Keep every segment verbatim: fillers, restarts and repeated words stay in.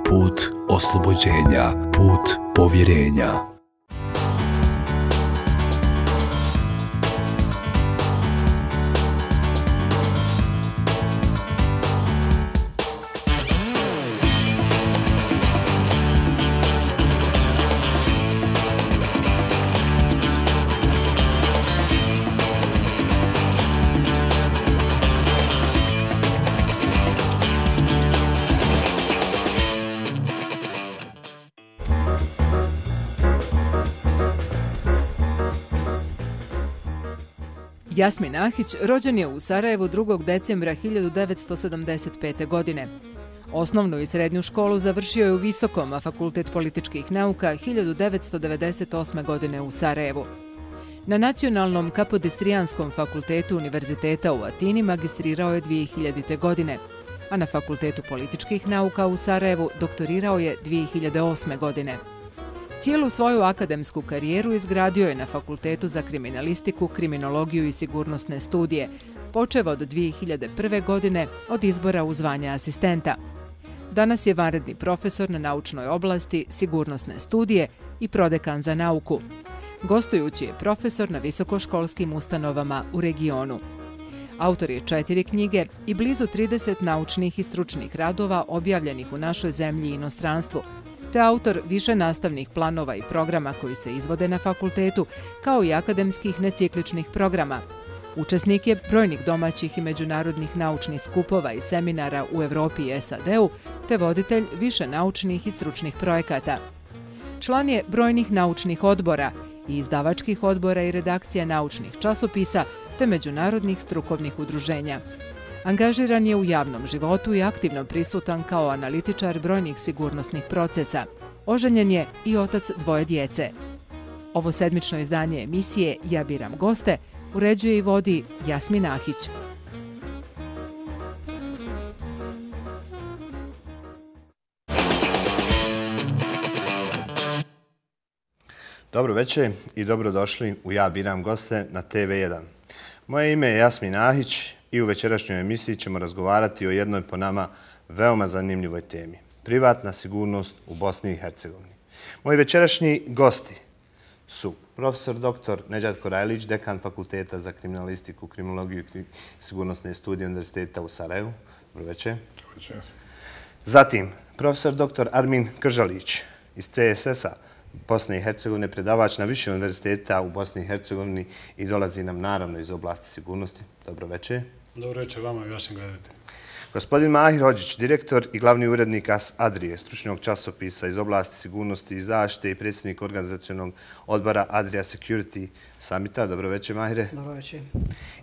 put oslobođenja, put povjerenja. Jasmin Ahić rođen je u Sarajevu drugog decembra hiljadu devetsto sedamdeset pete. godine. Osnovnu i srednju školu završio je u Visokom, a Fakultet političkih nauka hiljadu devetsto devedeset osme. godine u Sarajevu. Na Nacionalnom Kapodistrijanskom fakultetu Univerziteta u Atini magistrirao je dvije hiljadite. godine, a na Fakultetu političkih nauka u Sarajevu doktorirao je dvije hiljade osme. godine. Cijelu svoju akademsku karijeru izgradio je na Fakultetu za kriminalistiku, kriminologiju i sigurnosne studije, počev od dvije hiljade prve. godine od izbora u zvanje asistenta. Danas je vanredni profesor na naučnoj oblasti sigurnosne studije i prodekan za nauku. Gostujući je profesor na visokoškolskim ustanovama u regionu. Autor je četiri knjige i blizu trideset naučnih i stručnih radova objavljenih u našoj zemlji i inostranstvu, te autor više nastavnih planova i programa koji se izvode na fakultetu, kao i akademskih necikličnih programa. Učesnik je brojnih domaćih i međunarodnih naučnih skupova i seminara u Evropi i S A D-u, te voditelj više naučnih i stručnih projekata. Član je brojnih naučnih odbora i izdavačkih odbora i redakcija naučnih časopisa, te međunarodnih strukovnih udruženja. Angažiran je u javnom životu i aktivno prisutan kao analitičar brojnih sigurnosnih procesa. Oženjen je i otac dvoje djece. Ovo sedmično izdanje emisije Ja biram goste uređuje i vodi Jasmin Ahić. Dobro večer i dobrodošli u Ja biram goste na T V jedan. Moje ime je Jasmin Ahić i u večerašnjoj emisiji ćemo razgovarati o jednoj po nama veoma zanimljivoj temi. Privatna sigurnost u Bosni i Hercegovini. Moji večerašnji gosti su profesor doktor Nedžad Korajlić, dekan Fakulteta za kriminalistiku, kriminologiju i sigurnosne studije Univerziteta u Sarajevu. Dobro večer. Dobro večer. Zatim, profesor doktor Armin Kržalić iz C S S-a Bosne i Hercegovine, predavač na više univerziteta u Bosni i Hercegovini i dolazi nam naravno iz oblasti sigurnosti. Dobro večer. Dobro večer vama i vašim gledateljima. Gospodin Mahir Hodžić, direktor i glavni urednik A S Adrije, stručnog časopisa iz oblasti sigurnosti i zaštite i predsjednik organizacionog odbora Adria Security Summita. Dobro večer, Mahire. Dobro večer.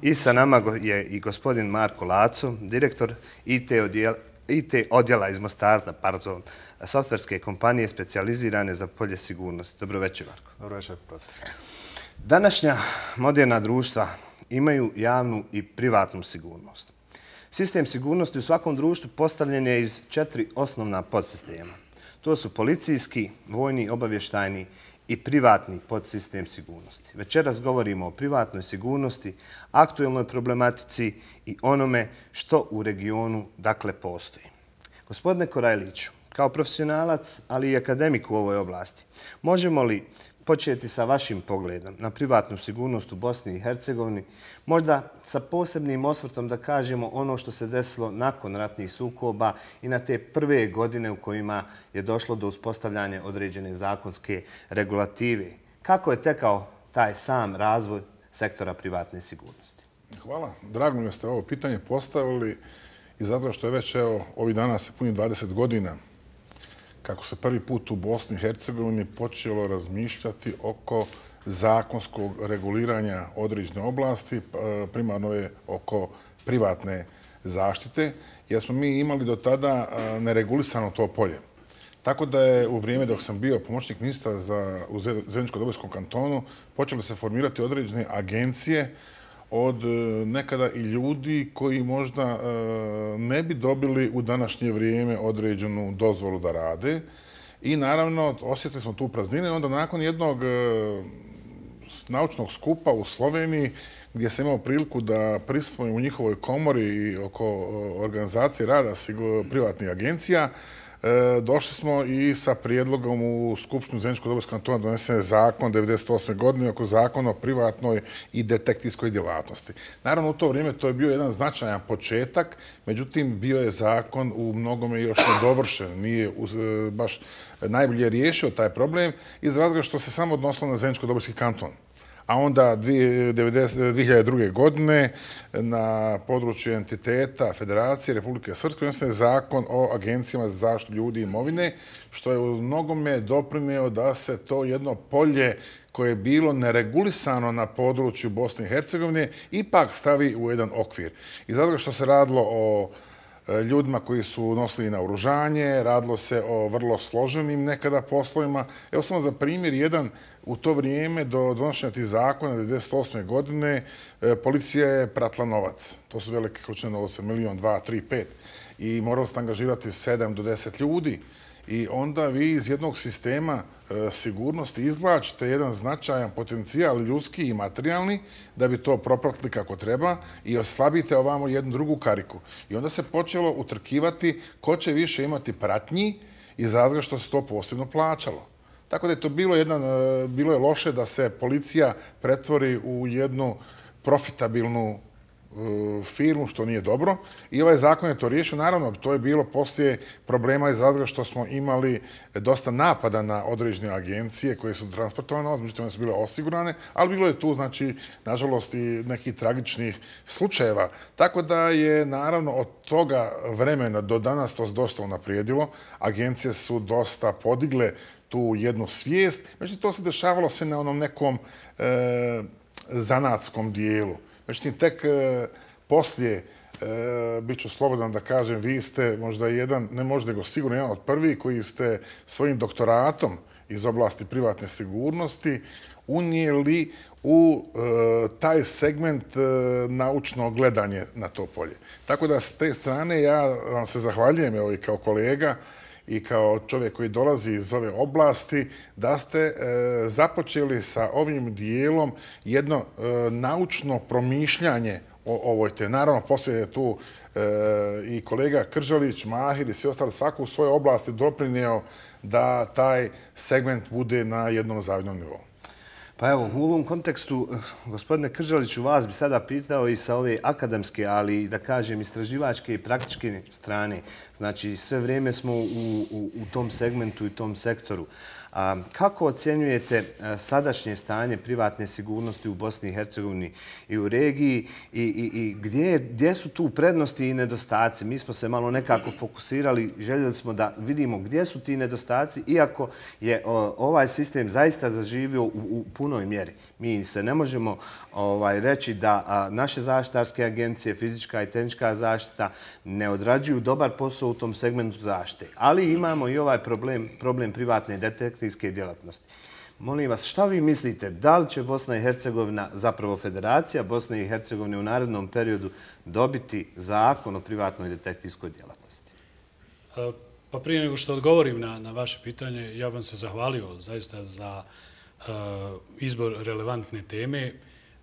I sa nama je i gospodin Marko Laco, direktor I T odjela I T odjela iz Mostarda, pardon, softverske kompanije specijalizirane za polje sigurnosti. Dobro večer, Marko. Dobro večer, profesor. Današnja moderna društva imaju javnu i privatnu sigurnost. Sistem sigurnosti u svakom društvu postavljen je iz četiri osnovna podsistema. To su policijski, vojni, obavještajni i privatni podsistem sigurnosti. Večeras govorimo o privatnoj sigurnosti, aktuelnoj problematici i onome što u regionu dakle postoji. Gospodine Korajliću, kao profesionalac, ali i akademik u ovoj oblasti, možemo li početi sa vašim pogledom na privatnu sigurnost u Bosni i Hercegovini, možda sa posebnim osvrtom da kažemo ono što se desilo nakon ratnih sukoba i na te prve godine u kojima je došlo do uspostavljanja određene zakonske regulative. Kako je tekao taj sam razvoj sektora privatne sigurnosti? Hvala. Drago mi je da ste ovo pitanje postavili i zato što je već evo, ovih dana se puni dvadeset godina kako se prvi put u Bosni i Hercegovini počelo razmišljati oko zakonskog reguliranja određene oblasti, primarno je oko privatne zaštite, jer smo mi imali do tada neregulisano to polje. Tako da je u vrijeme dok sam bio pomoćnik ministra za, u Zeničko-Dobojskom kantonu počeli se formirati određene agencije od nekada i ljudi koji možda ne bi dobili u današnje vrijeme određenu dozvolu da rade. I naravno osjetili smo tu praznine. Onda nakon jednog naučnog skupa u Sloveniji gdje sam imao priliku da prisustvujem u njihovoj komori i oko organizacije rada privatnih agencija, došli smo i sa prijedlogom u Skupštinu Zeničko-Dobojskog kantona donesen je zakon devedeset osme godine oko zakona o privatnoj i detektivskoj djelatnosti. Naravno, u to vrijeme to je bio jedan značajan početak, međutim, bio je zakon u mnogome još nedovršen, nije baš najbolje riješio taj problem iz razloga što se samo odnosilo na Zeničko-Dobojski kanton. A onda dvije hiljade druge. godine na području entiteta Federacije Republike Srpske donesen je zakon o agencijama za zaštitu ljudi i imovine, što je u mnogome doprinio da se to jedno polje koje je bilo neregulisano na području Bosne i Hercegovine ipak stavi u jedan okvir. Iz razloga što se radilo o ljudima koji su nosili naoružanje, radilo se o vrlo složenim nekada poslovima. Evo samo za primjer, jedan u to vrijeme do donošenja tih zakona devedeset osme. godine policija je pratila novac. To su velike količine novca, milion, dva, tri, pet. I morali ste angažirati sedam do deset ljudi. I onda vi iz jednog sistema sigurnosti izvlačite jedan značajan potencijal ljudski i materijalni da bi to propratili kako treba i oslabite ovamo jednu drugu kariku. I onda se počelo utrkivati ko će više imati pratnji iz razloga što se to posebno plaćalo. Tako da je to bilo, jedan, bilo je loše da se policija pretvori u jednu profitabilnu firmu, što nije dobro. I ovaj zakon je to riješio. Naravno, to je bilo poslije problema iz razloga što smo imali dosta napada na određene agencije koje su transportovane, međutim one su bile osigurane, ali bilo je tu, znači, nažalost, i nekih tragičnih slučajeva. Tako da je, naravno, od toga vremena do danas to se dosta unaprijedilo. Agencije su dosta podigle tu jednu svijest. Međutim, to se dešavalo sve na onom nekom e, zanatskom dijelu. Međutim, tek poslije, bit ću slobodan da kažem, vi ste možda jedan, ne možda nego sigurno jedan od prvih koji ste svojim doktoratom iz oblasti privatne sigurnosti unijeli u taj segment naučno gledanje na to polje. Tako da s te strane ja vam se zahvaljujem evo, i kao kolega i kao čovjek koji dolazi iz ove oblasti, da ste e, započeli sa ovim dijelom jedno e, naučno promišljanje o ovoj temi. Naravno, poslije je tu e, i kolega Kržalić, Mahir i svi ostali, svako u svojoj oblasti doprinio da taj segment bude na jednom zavidnom nivou. Pa evo, u ovom kontekstu, gospodine Kržaliću, vas bi sada pitao i sa ove akademske, ali da kažem istraživačke i praktičke strane. Znači, sve vrijeme smo u, u, u tom segmentu i tom sektoru. A kako ocjenjujete sadašnje stanje privatne sigurnosti u Bosni i Hercegovini i u regiji i, i, i gdje, gdje su tu prednosti i nedostaci? Mi smo se malo nekako fokusirali, željeli smo da vidimo gdje su ti nedostaci, iako je o, ovaj sistem zaista zaživio u, u punoj mjeri. Mi se ne možemo ovaj, reći da a, naše zaštitarske agencije, fizička i tehnička zaštita, ne odrađuju dobar posao u tom segmentu zaštite. Ali imamo i ovaj problem, problem privatne detektivske djelatnosti. Molim vas, šta vi mislite, da li će Bosna i Hercegovina, zapravo Federacija Bosne i Hercegovine u narednom periodu dobiti zakon o privatnoj detektivskoj djelatnosti? Pa prije nego što odgovorim na, na vaše pitanje, ja vam se zahvalio zaista za uh, izbor relevantne teme,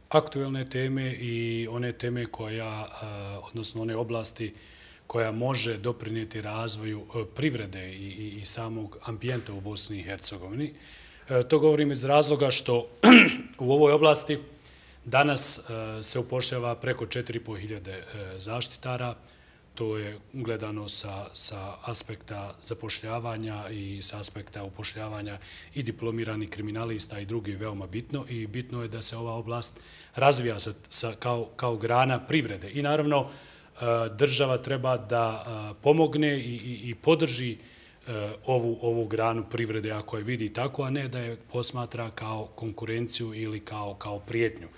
aktuelne teme i one teme koja, uh, odnosno one oblasti koja može doprinijeti razvoju privrede i, i, i samog ambijenta u Bosni i Hercegovini. E, to govorim iz razloga što u ovoj oblasti danas e, se upošljava preko četiri i po hiljade e, zaštitara. To je gledano sa, sa aspekta zapošljavanja i sa aspekta upošljavanja i diplomiranih kriminalista i drugi veoma bitno. I bitno je da se ova oblast razvija sa, sa, kao, kao grana privrede. I naravno, država treba da pomogne i, i, i podrži ovu, ovu granu privrede ako je vidi tako, a ne da je posmatra kao konkurenciju ili kao, kao prijetnju.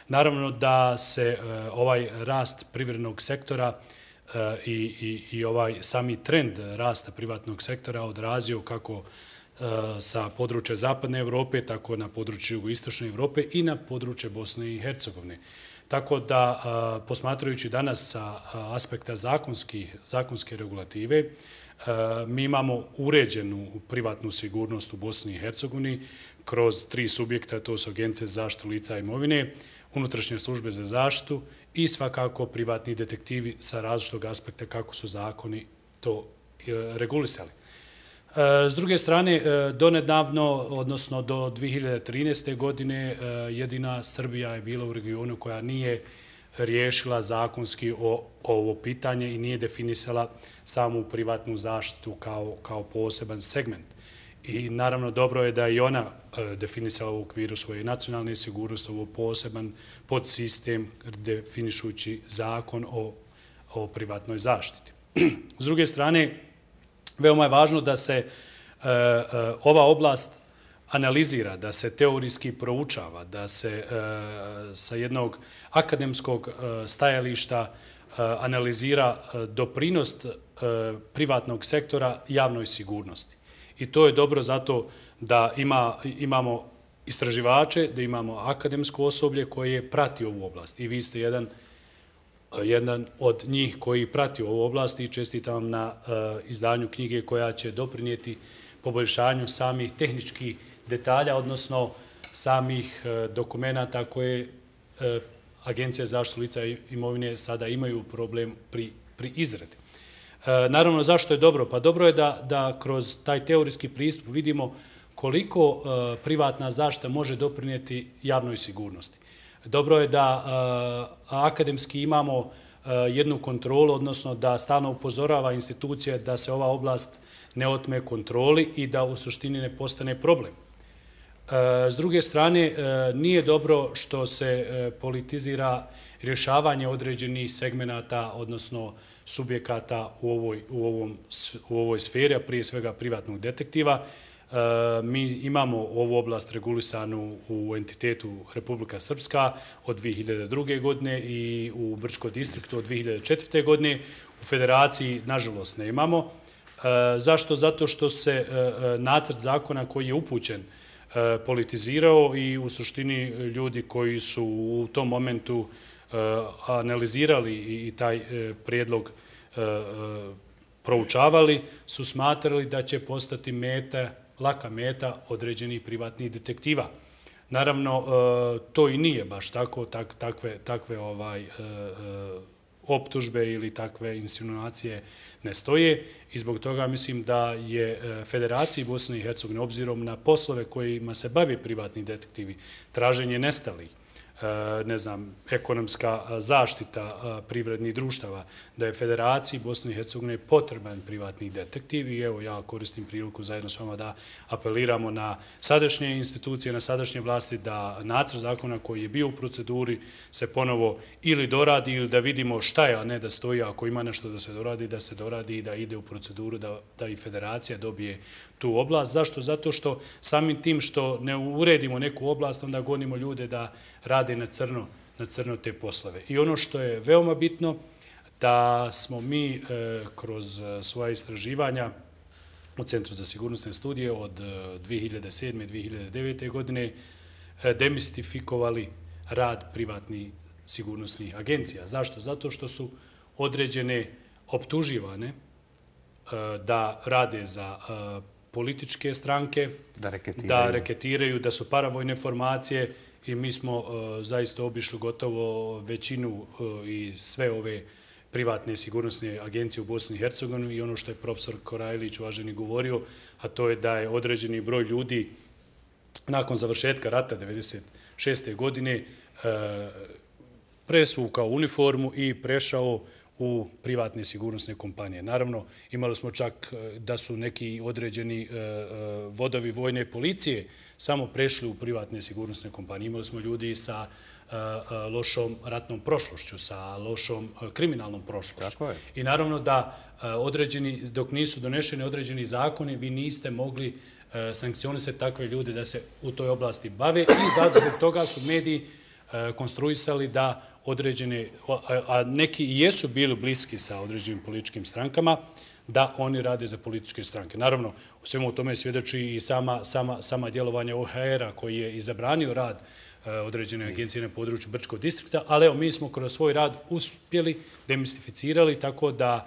Naravno da se ovaj rast privrednog sektora i, i, i ovaj sami trend rasta privatnog sektora odrazio kako sa područja Zapadne Evrope, tako na području Jugoistočne Evrope i na područje Bosne i Hercegovine. Tako da, posmatrajući danas sa aspekta zakonskih, zakonske regulative, mi imamo uređenu privatnu sigurnost u Bosni i Hercegovini kroz tri subjekta, to su Agencije za zaštitu lica i imovine, unutrašnje službe za zaštitu i svakako privatni detektivi sa različitog aspekta kako su zakoni to regulisali. S druge strane, donedavno, odnosno do dvije hiljade trinaeste. godine, jedina Srbija je bila u regionu koja nije riješila zakonski ovo pitanje i nije definisala samu privatnu zaštitu kao poseban segment. I naravno dobro je da i ona definisala u okviru svoje nacionalne sigurnosti ovo poseban podsistem definišući zakon o privatnoj zaštiti. S druge strane, veoma je važno da se ova oblast analizira, da se teorijski proučava, da se sa jednog akademskog stajališta analizira doprinost privatnog sektora javnoj sigurnosti. I to je dobro zato da imamo istraživače, da imamo akademsko osoblje koje prati ovu oblast. I vi ste jedan jedan od njih koji prati ovu oblast i čestitam vam na izdanju knjige koja će doprinijeti poboljšanju samih tehničkih detalja, odnosno samih dokumenata koje Agencija za zaštitu lica i imovine sada imaju problem pri izradi. Naravno, zašto je dobro? Pa dobro je da kroz taj teorijski pristup vidimo koliko privatna zaštita može doprinijeti javnoj sigurnosti. Dobro je da akademski imamo jednu kontrolu, odnosno da stalno upozorava institucija da se ova oblast ne otme kontroli i da u suštini ne postane problem. S druge strane, nije dobro što se politizira rješavanje određenih segmenata, odnosno subjekata u ovoj sferi, a prije svega privatnog detektiva. Mi imamo ovu oblast regulisanu u entitetu Republika Srpska od dvije hiljade druge. godine i u Brčkom distriktu od dvije hiljade četvrte. godine. U federaciji, nažalost, ne imamo. Zašto? Zato što se nacrt zakona koji je upućen politizirao i u suštini ljudi koji su u tom momentu analizirali i taj prijedlog proučavali, su smatrali da će postati meta, laka meta određenih privatnih detektiva. Naravno, to i nije baš tako, takve optužbe ili takve insinuacije ne stoje i zbog toga mislim da je Federaciji Bosne i Hercegovine, obzirom na poslove kojima se bavi privatni detektivi, traženje nestalih, ne znam, ekonomska zaštita privrednih društava, da je Federaciji Bosne i Hercegovine potreban privatni detektiv i evo ja koristim priliku zajedno s vama da apeliramo na sadašnje institucije, na sadašnje vlasti da nacrt zakona koji je bio u proceduri se ponovo ili doradi ili da vidimo šta je, a ne da stoji, ako ima nešto da se doradi, da se doradi i da ide u proceduru da i Federacija dobije tu oblast. Zašto? Zato što samim tim što ne uredimo neku oblast, onda gonimo ljude da rade na crno, na crno te poslove. I ono što je veoma bitno, da smo mi kroz svoja istraživanja u Centru za sigurnosne studije od dvije hiljade sedme. do dvije hiljade devete. godine demistifikovali rad privatnih sigurnosnih agencija. Zašto? Zato što su određene optuživane da rade za političke stranke, da reketiraju, da su paravojne formacije i mi smo zaista obišli gotovo većinu i sve ove privatne sigurnosne agencije u Bosni i Hercegovini i ono što je profesor Korajlić uvaženi govorio, a to je da je određeni broj ljudi nakon završetka rata devedeset šeste. godine presvukao uniformu i prešao u privatne sigurnosne kompanije. Naravno, imali smo čak da su neki određeni vodovi vojne policije samo prešli u privatne sigurnosne kompanije. Imali smo ljudi sa lošom ratnom prošlošću, sa lošom kriminalnom prošlošću. I naravno da određeni, dok nisu donešeni određeni zakoni, vi niste mogli sankcionisati takve ljude da se u toj oblasti bave i zato zbog toga su mediji konstruisali da određene, a neki i jesu bili bliski sa određenim političkim strankama, da oni rade za političke stranke. Naravno, u svemu tome svjedoči i sama djelovanja O H R-a koji je i zabranio rad određene agencije na području Brčkog distrikta, ali evo mi smo kroz svoj rad uspjeli, demistificirali, tako da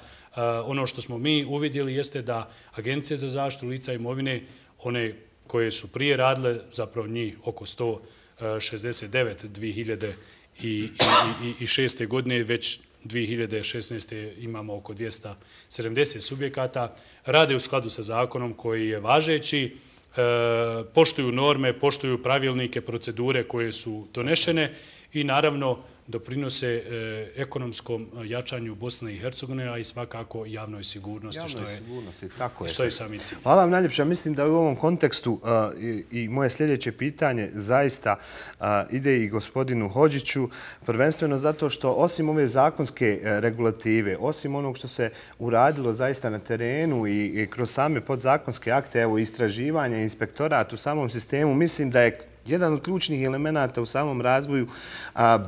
ono što smo mi uvidjeli jeste da Agencije za zaštitu lica i imovine, one koje su prije radile, zapravo njih oko sto šezdeset devet dvije hiljade šeste. godine već dvije hiljade šesnaeste. imamo oko dvjesto sedamdeset subjekata, rade u skladu sa zakonom koji je važeći, poštuju norme, poštuju pravilnike, procedure koje su donešene i naravno doprinose ekonomskom jačanju Bosne i Hercegovine, a i svakako javnoj sigurnosti, što je, što je sami cilj. Hvala vam najljepše. Mislim da u ovom kontekstu i moje sljedeće pitanje zaista ide i gospodinu Hodžiću, prvenstveno zato što osim ove zakonske regulative, osim onog što se uradilo zaista na terenu i kroz same podzakonske akte, evo istraživanja, inspektorat u samom sistemu, mislim da je jedan od ključnih elemenata u samom razvoju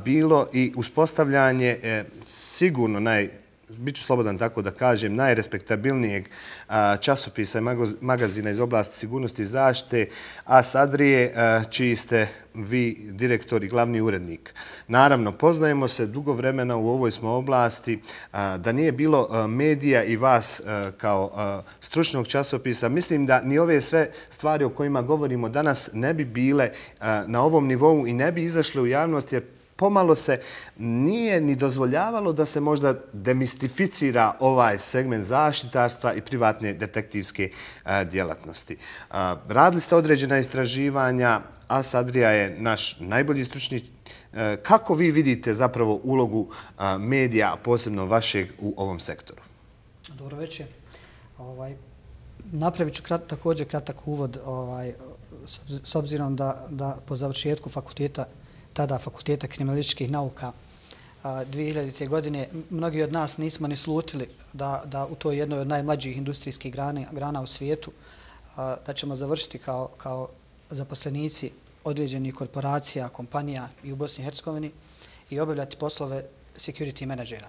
bilo i uspostavljanje sigurno naj, bit ću slobodan tako da kažem, najrespektabilnijeg časopisa i magazina iz oblasti sigurnosti i zaštite, Asadrije, čiji ste vi direktor i glavni urednik. Naravno, poznajemo se dugo vremena u ovoj smo oblasti, da nije bilo medija i vas kao stručnog časopisa. Mislim da ni ove sve stvari o kojima govorimo danas ne bi bile na ovom nivou i ne bi izašle u javnost, jer pomalo se nije ni dozvoljavalo da se možda demistificira ovaj segment zaštitarstva i privatne detektivske djelatnosti. Radili ste određena istraživanja, Asadrija je naš najbolji stručni. Kako vi vidite zapravo ulogu medija, posebno vašeg, u ovom sektoru? Dobro večer. Ovaj, napravit ću krat, također kratak uvod ovaj, s obzirom da, da po završetku fakulteta tada Fakulteta kriminalističkih nauka dvije hiljadite. godine, mnogi od nas nismo ni slutili da, da u toj jednoj od najmlađih industrijskih grana, grana u svijetu da ćemo završiti kao, kao zaposlenici određenih korporacija, kompanija i u Bosni i Hercegovini i obavljati poslove security menadžera.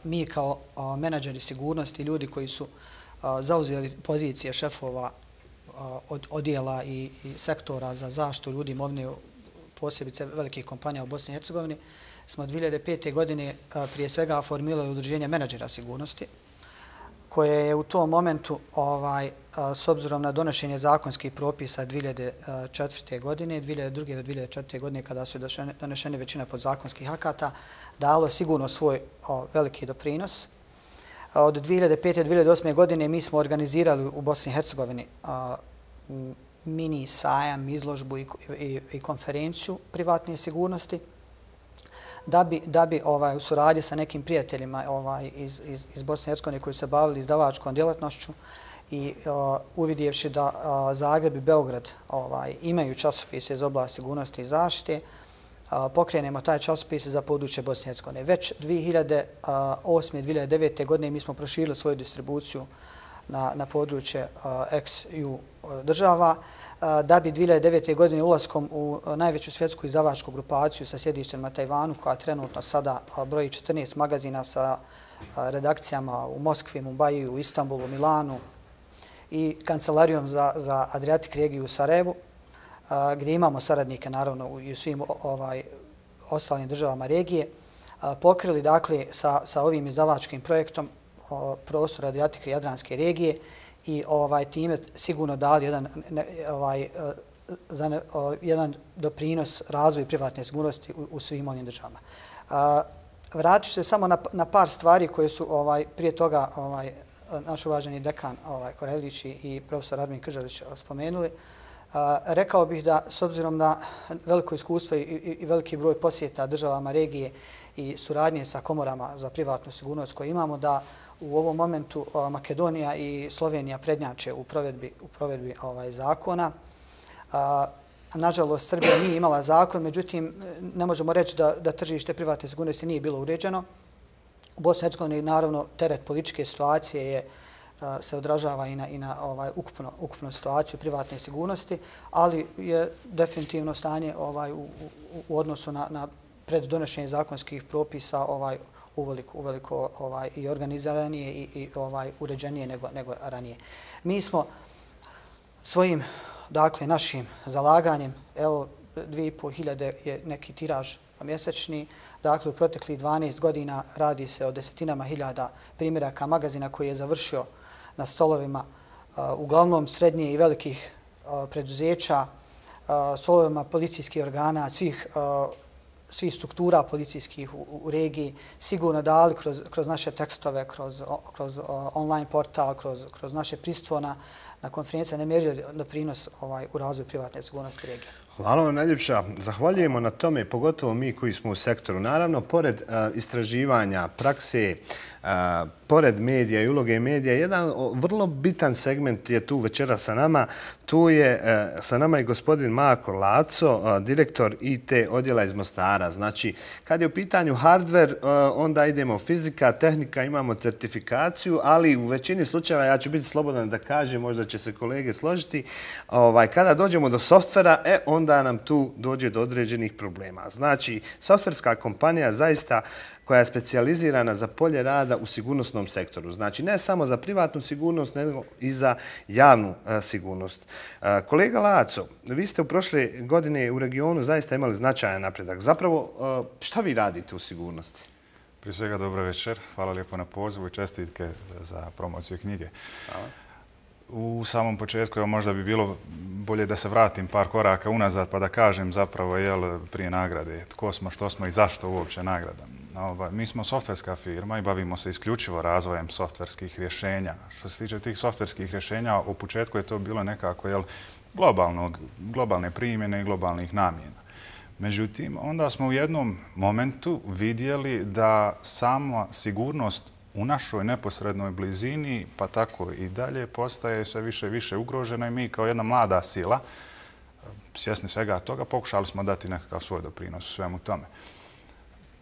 Mi kao menadžeri sigurnosti, ljudi koji su zauzeli pozicije šefova od odjela i, i sektora za zaštitu ljudi imovine, posebice velikih kompanija u Bosni i Hercegovini, smo od dvije hiljade pete. godine prije svega formirali udruženje menadžera sigurnosti, koje je u tom momentu, ovaj, s obzirom na donošenje zakonskih propisa dvije hiljade četvrte. godine, dvije hiljade druge. do dvije hiljade četvrte. godine, kada su donešene većina podzakonskih akata, dalo sigurno svoj o, veliki doprinos. Od dvije hiljade pete. do dvije hiljade osme. godine mi smo organizirali u Bosni i Hercegovini a, mini sajam, izložbu i, i, i konferenciju privatne sigurnosti, da bi, da bi ovaj, u suradnji sa nekim prijateljima ovaj, iz, iz, iz Bosne i Hercegovine koji se bavili izdavačkom djelatnošću i uh, uvidjevši da uh, Zagreb i Beograd ovaj, imaju časopise iz oblasti sigurnosti i zaštite, uh, pokrenemo taj časopis za područje Bosne i Hercegovine. Već dvije hiljade osme. dvije hiljade devete. godine mi smo proširili svoju distribuciju na, na područje uh, ex-ju država, uh, da bi dvije hiljade devete. godine ulaskom u uh, najveću svjetsku izdavačku grupaciju sa sjedištem na Tajvanu, koja trenutno sada uh, broji četrnaest magazina sa uh, redakcijama u Moskvi, Mumbaju, Istanbulu, Milanu i kancelarijom za, za Adriatic regiju u Sarajevu, uh, gdje imamo saradnike naravno i u svim ovaj, ostalim državama regije, uh, pokrili dakle sa, sa ovim izdavačkim projektom prostor Adriatike i Jadranske regije i ovaj time sigurno dali jedan ne, ovaj za ne, o, jedan doprinos razvoju privatne sigurnosti u, u svim ovim državama. Vratit ću se samo na, na par stvari koje su ovaj prije toga ovaj naš uvaženi dekan ovaj Korelić i profesor Armin Kržalić spomenuli. A, rekao bih da s obzirom na veliko iskustvo i, i, i veliki broj posjeta državama regije i suradnje sa komorama za privatnu sigurnost koje imamo, da u ovom momentu a, Makedonija i Slovenija prednjače u provedbi, u provedbi ovaj, zakona. A, nažalost, Srbija nije imala zakon, međutim, ne možemo reći da, da tržište privatne sigurnosti nije bilo uređeno. U Bosni i Hercegovini, naravno, teret političke situacije je se odražava i na, i na ovaj, ukupno, ukupnu situaciju privatne sigurnosti, ali je definitivno stanje ovaj, u, u, u odnosu na, na preddonošenje zakonskih propisa ovaj, uveliko, uveliko ovaj, i organiziranije i, i ovaj, uređenije nego, nego ranije. Mi smo svojim, dakle, našim zalaganjem, evo, dvije i pol hiljade je neki tiraž mjesečni, dakle, u proteklih dvanaest godina radi se o desetinama hiljada primjeraka magazina koji je završio na stolovima uh, uglavnom srednje i velikih uh, preduzeća, uh, stolovima policijskih organa, svih uh, svih struktura policijskih u, u regiji sigurno dali kroz, kroz naše tekstove, kroz, kroz online portal, kroz, kroz naše prisustvo na, na konferencije nemjerljiv doprinos ovaj, u razvoju privatne sigurnosti regije. Hvala vam najljepša. Zahvaljujemo na tome, pogotovo mi koji smo u sektoru. Naravno, pored uh, istraživanja, prakse, uh, pored medija i uloge medija, jedan vrlo bitan segment je tu večera sa nama. Tu je uh, sa nama i gospodin Marko Laco, uh, direktor I T odjela iz Mostara. Znači, kad je u pitanju hardware, uh, onda idemo fizika, tehnika, imamo certifikaciju, ali u većini slučajeva, ja ću biti slobodan da kažem, možda će se kolege složiti, ovaj, kada dođemo do softvera, e, onda da nam tu dođe do određenih problema. Znači, softverska kompanija zaista koja je specijalizirana za polje rada u sigurnosnom sektoru. Znači, ne samo za privatnu sigurnost, nego i za javnu a, sigurnost. A, kolega Laco, vi ste u prošle godine u regionu zaista imali značajan napredak. Zapravo, a, šta vi radite u sigurnosti? Prije svega, dobro večer. Hvala lijepo na pozivu i čestitke za promociju knjige. Hvala. U samom početku, evo, možda bi bilo bolje da se vratim par koraka unazad pa da kažem zapravo jel, prije nagrade tko smo, što smo i zašto uopće nagrada. Mi smo softverska firma i bavimo se isključivo razvojem softverskih rješenja. Što se tiče tih softverskih rješenja, u početku je to bilo nekako jel, globalnog, globalne primjene i globalnih namjena. Međutim, onda smo u jednom momentu vidjeli da sama sigurnost u našoj neposrednoj blizini, pa tako i dalje, postaje sve više i više ugrožena i mi kao jedna mlada sila, svjesni svega toga, pokušali smo dati nekakav svoj doprinos u svemu tome.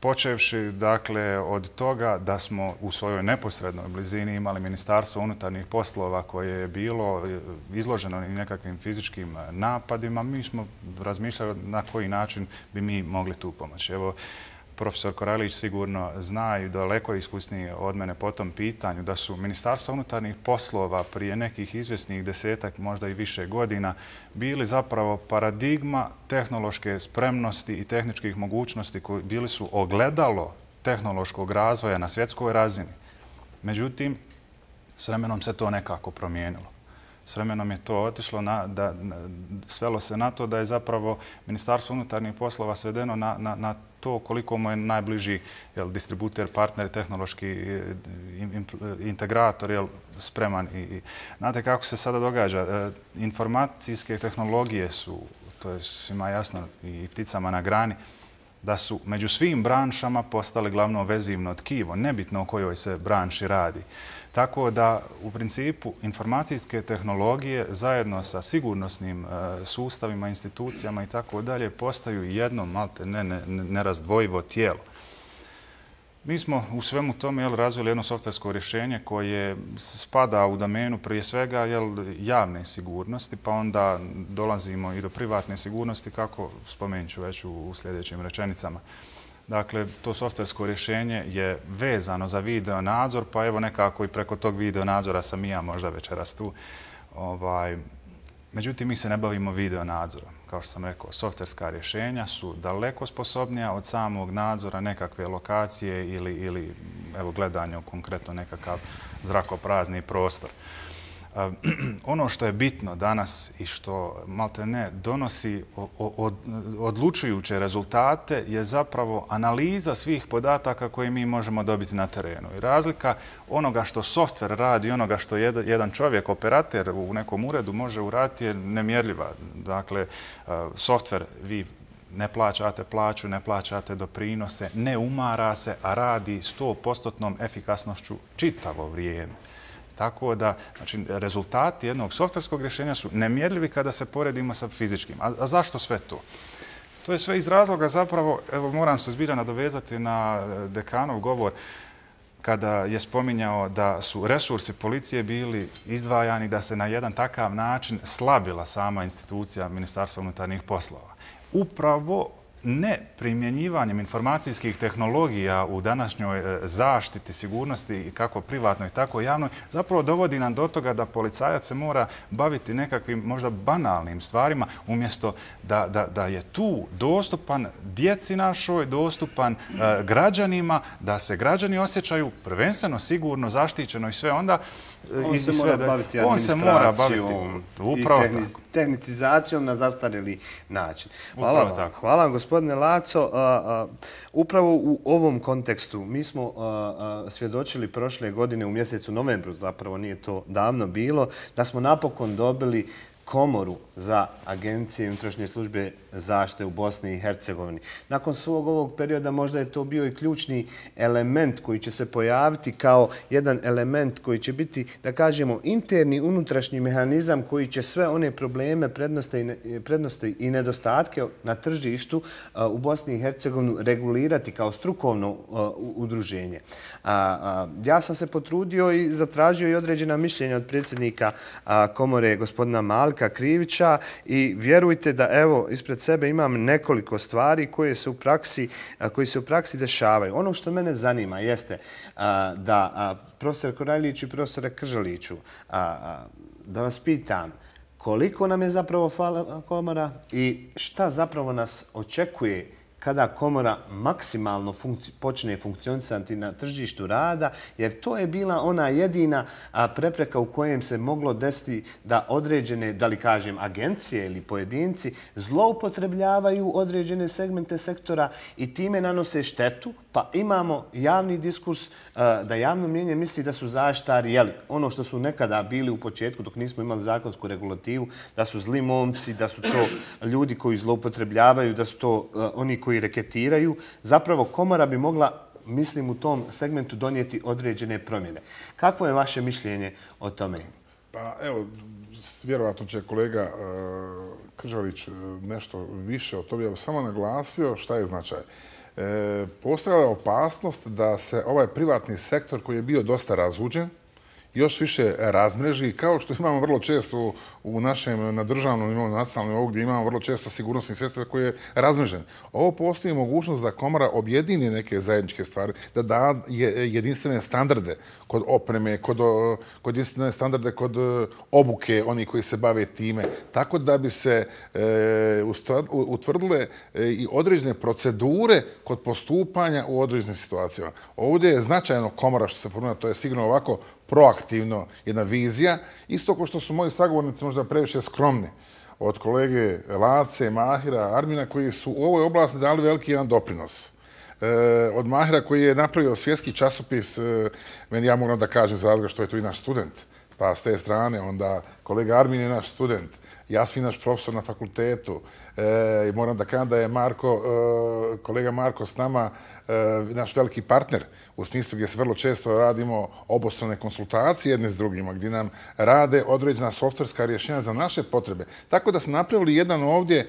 Počevši, dakle, od toga da smo u svojoj neposrednoj blizini imali Ministarstvo unutarnjih poslova koje je bilo izloženo i nekakvim fizičkim napadima, mi smo razmišljali na koji način bi mi mogli tu pomoći. Evo, profesor Koralić sigurno zna i daleko iskusniji od mene po tom pitanju da su Ministarstva unutarnjih poslova prije nekih izvjesnih desetak, možda i više godina, bili zapravo paradigma tehnološke spremnosti i tehničkih mogućnosti koji bili su ogledalo tehnološkog razvoja na svjetskoj razini. Međutim, s vremenom se to nekako promijenilo. S vremenom je to otišlo, na, da, svelo se na to da je zapravo Ministarstvo unutarnjih poslova svedeno na, na, na to koliko mu je najbliži jel, distributer, partner, tehnološki integrator jel, spreman. I, i, znate kako se sada događa? E, informacijske tehnologije su, to je svima jasno i pticama na grani, da su među svim branšama postali glavno vezivno tkivo, nebitno o kojoj se branši radi. Tako da, u principu, informacijske tehnologije zajedno sa sigurnosnim e, sustavima, institucijama i tako dalje postaju jedno, malte ne, ne, nerazdvojivo tijelo. Mi smo u svemu tome jel, razvili jedno softversko rješenje koje spada u domenu prije svega jel, javne sigurnosti, pa onda dolazimo i do privatne sigurnosti, kako spomenut ću već u, u sljedećim rečenicama. Dakle, to softversko rješenje je vezano za video nadzor, pa evo nekako i preko tog video nadzora sam i ja možda večeras tu. Ovaj, međutim, mi se ne bavimo video nadzorom. Kao što sam rekao, softverska rješenja su daleko sposobnija od samog nadzora nekakve lokacije ili, ili evo, gledanja u konkretno nekakav zrakoprazni prostor. Ono što je bitno danas i što malte ne donosi odlučujuće rezultate je zapravo analiza svih podataka koje mi možemo dobiti na terenu. I razlika onoga što softver radi i onoga što jedan čovjek, operater u nekom uredu može uraditi je nemjerljiva. Dakle, softver vi ne plaćate plaću, ne plaćate doprinose, ne umara se, a radi sto posto efikasnošću čitavo vrijeme. Tako da, znači, rezultati jednog softverskog rješenja su nemjerljivi kada se poredimo sa fizičkim. A, a zašto sve to? To je sve iz razloga zapravo, evo moram se zbilja nadovezati na dekanov govor kada je spominjao da su resursi policije bili izdvajani, da se na jedan takav način slabila sama institucija Ministarstva unutarnjih poslova. Upravo ne primjenjivanjem informacijskih tehnologija u današnjoj zaštiti sigurnosti kako privatnoj, tako i javnoj, zapravo dovodi nam do toga da policajac se mora baviti nekakvim možda banalnim stvarima, umjesto da, da, da je tu dostupan djeci našoj, dostupan e, građanima, da se građani osjećaju prvenstveno sigurno, zaštićeno i sve onda On se mora baviti administracijom i tehnitizacijom na zastarjeli način. Hvala vam, hvala vam gospodine Laco. Upravo u ovom kontekstu mi smo svjedočili prošle godine u mjesecu novembru, zapravo nije to davno bilo, da smo napokon dobili komoru za agencije i unutrašnje službe zaštite u Bosni i Hercegovini. Nakon svog ovog perioda možda je to bio i ključni element koji će se pojaviti kao jedan element koji će biti, da kažemo, interni unutrašnji mehanizam koji će sve one probleme, prednosti i nedostatke na tržištu u Bosni i Hercegovini regulirati kao strukovno udruženje. Ja sam se potrudio i zatražio i određena mišljenja od predsjednika komore gospodina Malka Krivića i vjerujte da evo ispred sebe imam nekoliko stvari koje se u praksi, koji se u praksi dešavaju. Ono što mene zanima jeste da profesor Korajliću i profesore Kržaliću, da vas pitam koliko nam je zapravo fala komora i šta zapravo nas očekuje kada komora maksimalno počne funkcionisati na tržištu rada, jer to je bila ona jedina prepreka u kojem se moglo desiti da određene, da li kažem, agencije ili pojedinci zloupotrebljavaju određene segmente sektora i time nanose štetu, pa imamo javni diskurs da javno mnijenje misli da su zaštitari, jeli, ono što su nekada bili u početku dok nismo imali zakonsku regulativu, da su zli momci, da su to ljudi koji zloupotrebljavaju, da su to oni koji reketiraju. Zapravo komora bi mogla, mislim, u tom segmentu donijeti određene promjene. Kakvo je vaše mišljenje o tome? Pa evo, vjerovatno će kolega Kržalić nešto više o tome. Ja bih samo naglasio šta je značaj. Postojala je opasnost da se ovaj privatni sektor koji je bio dosta razvuđen još više razmreži, kao što imamo vrlo često u našem, na državnom nivou, na nacionalnom nivou, gdje imamo vrlo često sigurnosni sektor koji je razmrežen. Ovo postoji mogućnost da komora objedini neke zajedničke stvari, da da jedinstvene standarde kod opreme, kod, kod jedinstvene standarde kod obuke, oni koji se bave time, tako da bi se e, utvrdile i određene procedure kod postupanja u određenim situacijama. Ovdje je značajno komora što se formira, to je sigurno ovako proaktivno jedna vizija, isto kao što su moji sagovornici možda previše skromni od kolege Lace, Mahira, Armina, koji su u ovoj oblasti dali veliki jedan doprinos. E, od Mahira koji je napravio svjetski časopis, e, meni ja moram da kažem za razga što je tu i naš student, pa s te strane onda kolega Armin je naš student, Jasmin naš profesor na fakultetu, e, i moram da kažem da je Marko, e, kolega Marko s nama e, naš veliki partner, u smislu gdje se vrlo često radimo obostrane konsultacije jedne s drugima, gdje nam rade određena softverska rješenja za naše potrebe. Tako da smo napravili jedan ovdje,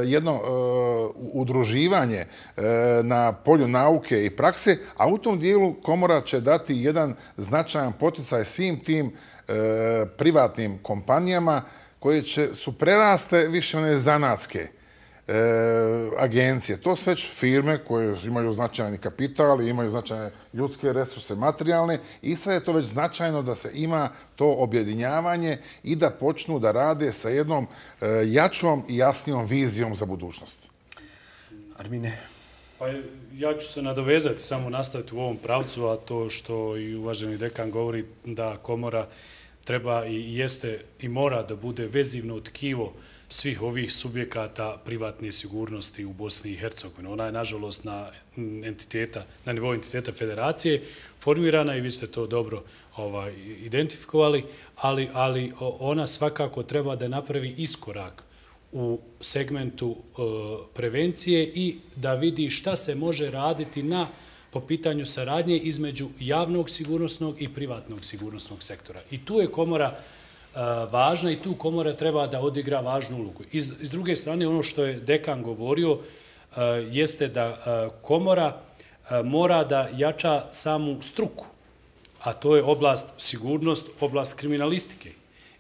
jedno udruživanje na polju nauke i prakse, a u tom dijelu komora će dati jedan značajan poticaj svim tim privatnim kompanijama koje će, su preraste više one zanatske agencije. To su već firme koje imaju značajni kapital i imaju značajne ljudske resurse, materijalne, i sad je to već značajno da se ima to objedinjavanje i da počnu da rade sa jednom jačom i jasnijom vizijom za budućnost. Armine? Pa ja ću se nadovezati, samo nastaviti u ovom pravcu, a to što i uvaženi dekan govori da komora treba i jeste i mora da bude vezivno tkivo svih ovih subjekata privatne sigurnosti u Bosni i Hercegovini. Ona je, nažalost, na, entiteta, na nivou entiteta federacije formirana i vi ste to dobro ovaj, identifikovali, ali, ali ona svakako treba da napravi iskorak u segmentu e, prevencije i da vidi šta se može raditi na po pitanju saradnje između javnog sigurnosnog i privatnog sigurnosnog sektora. I tu je komora važna i tu komora treba da odigra važnu ulogu. Iz, iz druge strane, ono što je dekan govorio jeste da komora mora da jača samu struku, a to je oblast sigurnost, oblast kriminalistike.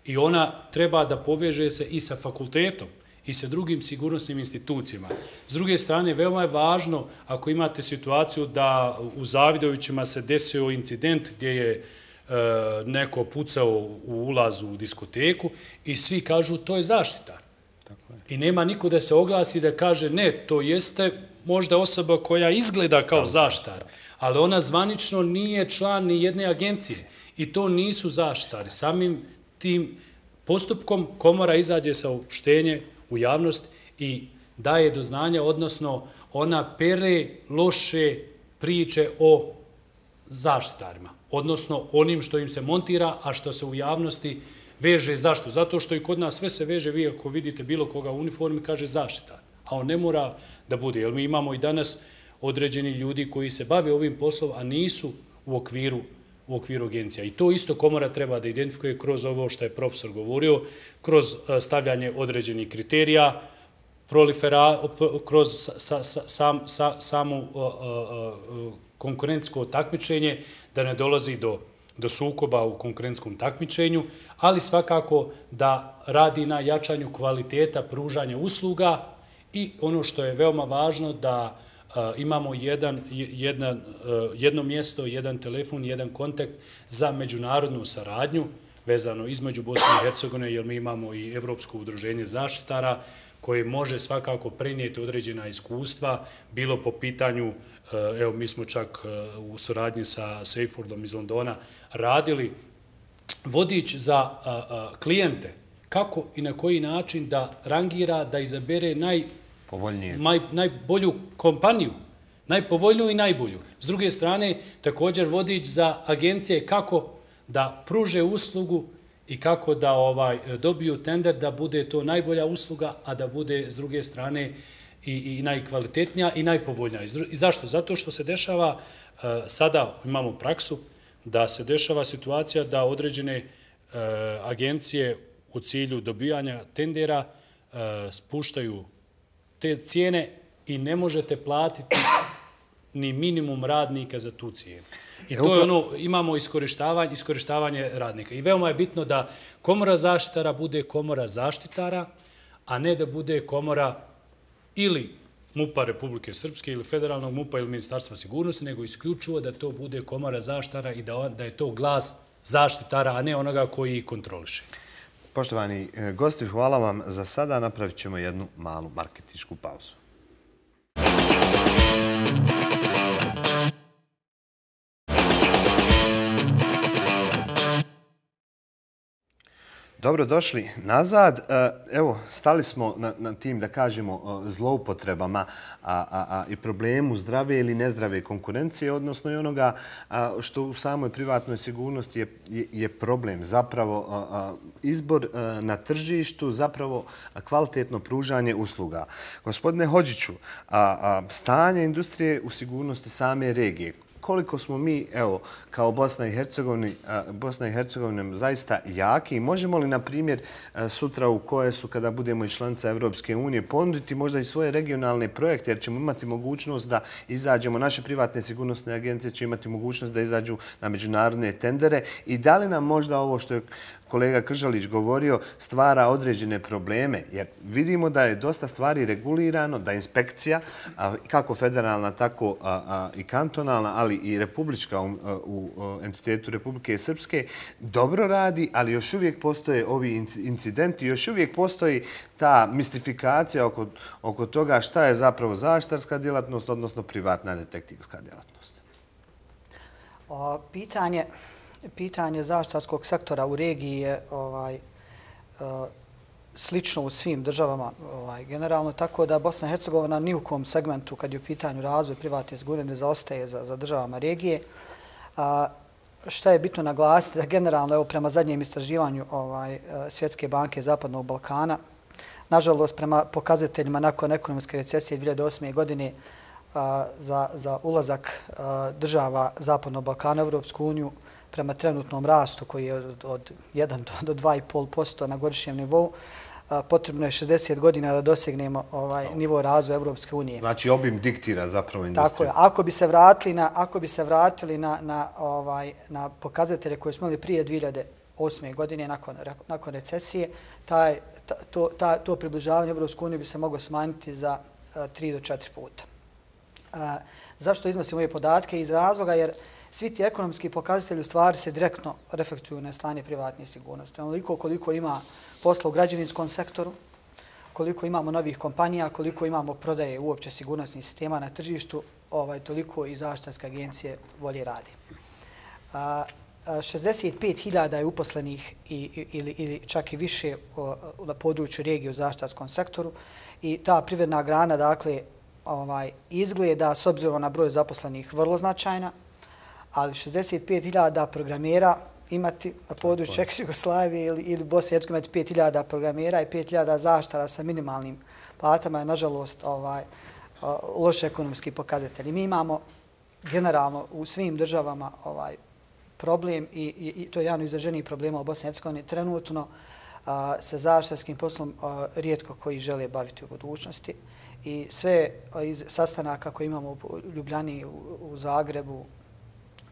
I ona treba da poveže se i sa fakultetom i sa drugim sigurnosnim institucijama. S druge strane, veoma je važno ako imate situaciju da u Zavidovićima se desio incident gdje je neko pucao u ulazu u diskoteku i svi kažu to je zaštitar. I nema niko da se oglasi da kaže ne, to jeste možda osoba koja izgleda kao zaštitar, ali ona zvanično nije član ni jedne agencije i to nisu zaštitari. Samim tim postupkom komora izađe sa opštenje u javnost i daje do znanja, odnosno ona pere loše priče o zaštitarima, odnosno onim što im se montira, a što se u javnosti veže. Zašto? Zato što i kod nas sve se veže, vi ako vidite bilo koga u uniformi, kaže zaštitar, a on ne mora da bude, jer mi imamo i danas određeni ljudi koji se bave ovim poslom, a nisu u okviru u okviru agencija. I to isto komora treba da identifikuje kroz ovo što je profesor govorio, kroz stavljanje određenih kriterija, prolifera, kroz sa, sa, sam, sa, samo uh, uh, konkurencijsko takmičenje, da ne dolazi do, do sukoba u konkurentskom takmičenju, ali svakako da radi na jačanju kvaliteta pružanja usluga i ono što je veoma važno da Uh, imamo jedan, jedan, uh, jedno mjesto, jedan telefon, jedan kontakt za međunarodnu saradnju vezano između Bosne i Hercegovine, jer mi imamo i Evropsko udruženje zaštitara koje može svakako prenijeti određena iskustva, bilo po pitanju, uh, evo mi smo čak uh, u suradnji sa Seyfordom iz Londona radili vodič za uh, uh, klijente, kako i na koji način da rangira, da izabere naj Maj, najbolju kompaniju, najpovoljniju i najbolju. S druge strane, također vodič za agencije kako da pruže uslugu i kako da ovaj dobiju tender da bude to najbolja usluga, a da bude s druge strane i, i najkvalitetnija i najpovoljnija. I zašto? Zato što se dešava, sada imamo praksu, da se dešava situacija da određene agencije u cilju dobijanja tendera spuštaju te cijene i ne možete platiti ni minimum radnika za tu cijenu. I to je ono, imamo iskorištavanje, iskorištavanje radnika. I veoma je bitno da komora zaštitara bude komora zaštitara, a ne da bude komora ili MUP-a Republike Srpske ili federalnog MUP-a ili Ministarstva sigurnosti, nego isključivo da to bude komora zaštitara i da, da je to glas zaštitara, a ne onoga koji ih kontroliše. Poštovani gosti, hvala vam za sada. Napravit ćemo jednu malu marketinšku pauzu. Dobro došli nazad. Evo, stali smo na, na tim, da kažemo, zloupotrebama a, a, a, i problemu zdrave ili nezdrave konkurencije, odnosno i onoga a, što u samoj privatnoj sigurnosti je, je, je problem. Zapravo a, a, izbor a, na tržištu, zapravo a, kvalitetno pružanje usluga. Gospodine Hodžiću, a, a, stanje industrije u sigurnosti same regije, koliko smo mi, evo, kao Bosna i Hercegovina, Bosna i Hercegovina zaista jaki i možemo li, na primjer, sutra u koje su, kada budemo i članica Evropske unije, ponuditi možda i svoje regionalne projekte, jer ćemo imati mogućnost da izađemo, naše privatne sigurnosne agencije će imati mogućnost da izađu na međunarodne tendere i da li nam možda ovo što je kolega Kržalić govorio stvara određene probleme, jer vidimo da je dosta stvari regulirano, da inspekcija, kako federalna, tako i kantonalna, ali i republička u entitetu Republike Srpske, dobro radi, ali još uvijek postoje ovi incidenti, još uvijek postoji ta mistifikacija oko, oko toga šta je zapravo zaštitarska djelatnost, odnosno privatna detektivska djelatnost. O, pitanje... Pitanje zaštitarskog sektora u regiji je ovaj, slično u svim državama ovaj, generalno, tako da Bosna i Hercegovina ni u kom segmentu, kad je u pitanju razvoj privatne sigurnosti, ne zaostaje za, za državama regije. A, šta je bitno naglasiti da generalno, evo, prema zadnjem istraživanju ovaj, Svjetske banke Zapadnog Balkana, nažalost, prema pokazateljima nakon ekonomske recesije dvije hiljade osme. godine a, za, za ulazak a, država Zapadnog Balkana u Evropsku uniju, prema trenutnom rastu koji je od, od jedan do dva i pol posto na godišnjem nivou, a, potrebno je šezdeset godina da dosegnemo ovaj no. nivo razvoja Evropske unije. Znači obim diktira zapravo industriju. Tako je. Ako bi se vratili na, ako bi se vratili na, na, ovaj, na pokazatelje koje smo imali prije dvije hiljade osme. godine nakon, nakon recesije, taj, ta, to, ta, to približavanje Evropske unije bi se moglo smanjiti za a, tri do četiri puta. A, zašto iznosim ove podatke? Iz razloga jer svi ti ekonomski pokazatelji u stvari se direktno reflektuju na stanje privatne sigurnosti. Onoliko koliko ima posla u građevinskom sektoru, koliko imamo novih kompanija, koliko imamo prodaje uopće sigurnosnih sistema na tržištu, ovaj, toliko i zaštitarske agencije bolje radi. A, šezdeset pet hiljada je uposlenih ili, ili čak i više na području regije u zaštitarskom sektoru i ta privredna grana, dakle, ovaj, izgleda s obzirom na broj zaposlenih vrlo značajna, ali šezdeset pet hiljada programera imati na području Češke Jugoslavije ili, ili Bosne i Hercegovine imati pet hiljada programera i pet hiljada zaštitara sa minimalnim platama je, nažalost, ovaj, loš ekonomski pokazatelj. Mi imamo generalno u svim državama ovaj problem i, i, i to je jedan izraženiji problema u Bosni i Hercegovini. Trenutno a, sa zaštitarskim poslom a, rijetko koji žele baviti u budućnosti i sve a, iz sastanaka koje imamo u Ljubljani, u, u Zagrebu,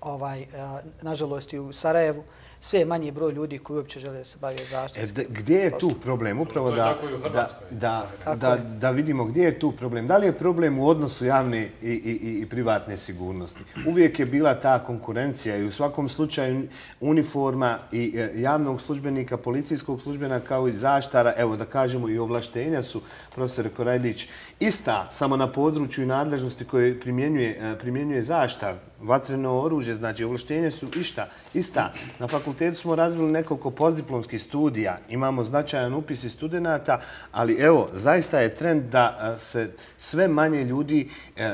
ovaj, a, nažalost i u Sarajevu, sve je manji broj ljudi koji uopće žele da se bavio zaštitarskim. E, gdje je tu problem? Upravo da, da, da, da, da vidimo gdje je tu problem. Da li je problem u odnosu javne i, i, i privatne sigurnosti? Uvijek je bila ta konkurencija i u svakom slučaju uniforma i javnog službenika, policijskog službenika kao i zaštara, evo da kažemo i ovlaštenja su, profesor Korajlić, ista samo na području i nadležnosti koje primjenjuje, primjenjuje zaštar, vatreno oružje, znači ovlaštenje su išta, ista. Na fakultetu smo razvili nekoliko postdiplomskih studija, imamo značajan upis i studenta, ali evo, zaista je trend da se sve manje ljudi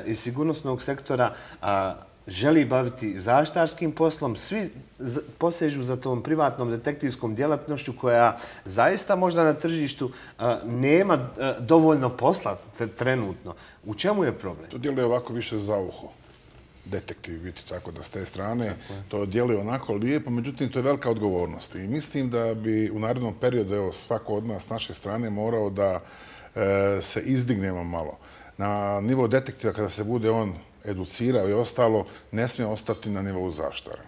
iz sigurnosnog sektora želi baviti zaštarskim poslom, svi posežu za tom privatnom detektivskom djelatnošću koja zaista možda na tržištu nema dovoljno posla trenutno. U čemu je problem? To djeluje ovako više za uho. Detektiv biti tako da s te strane to djeluje onako lijepo, međutim to je velika odgovornost i mislim da bi u narednom periodu evo, svako od nas s naše strane morao da e, se izdignemo malo. Na nivo detektiva kada se bude on educirao i ostalo, ne smije ostati na nivou zaštara.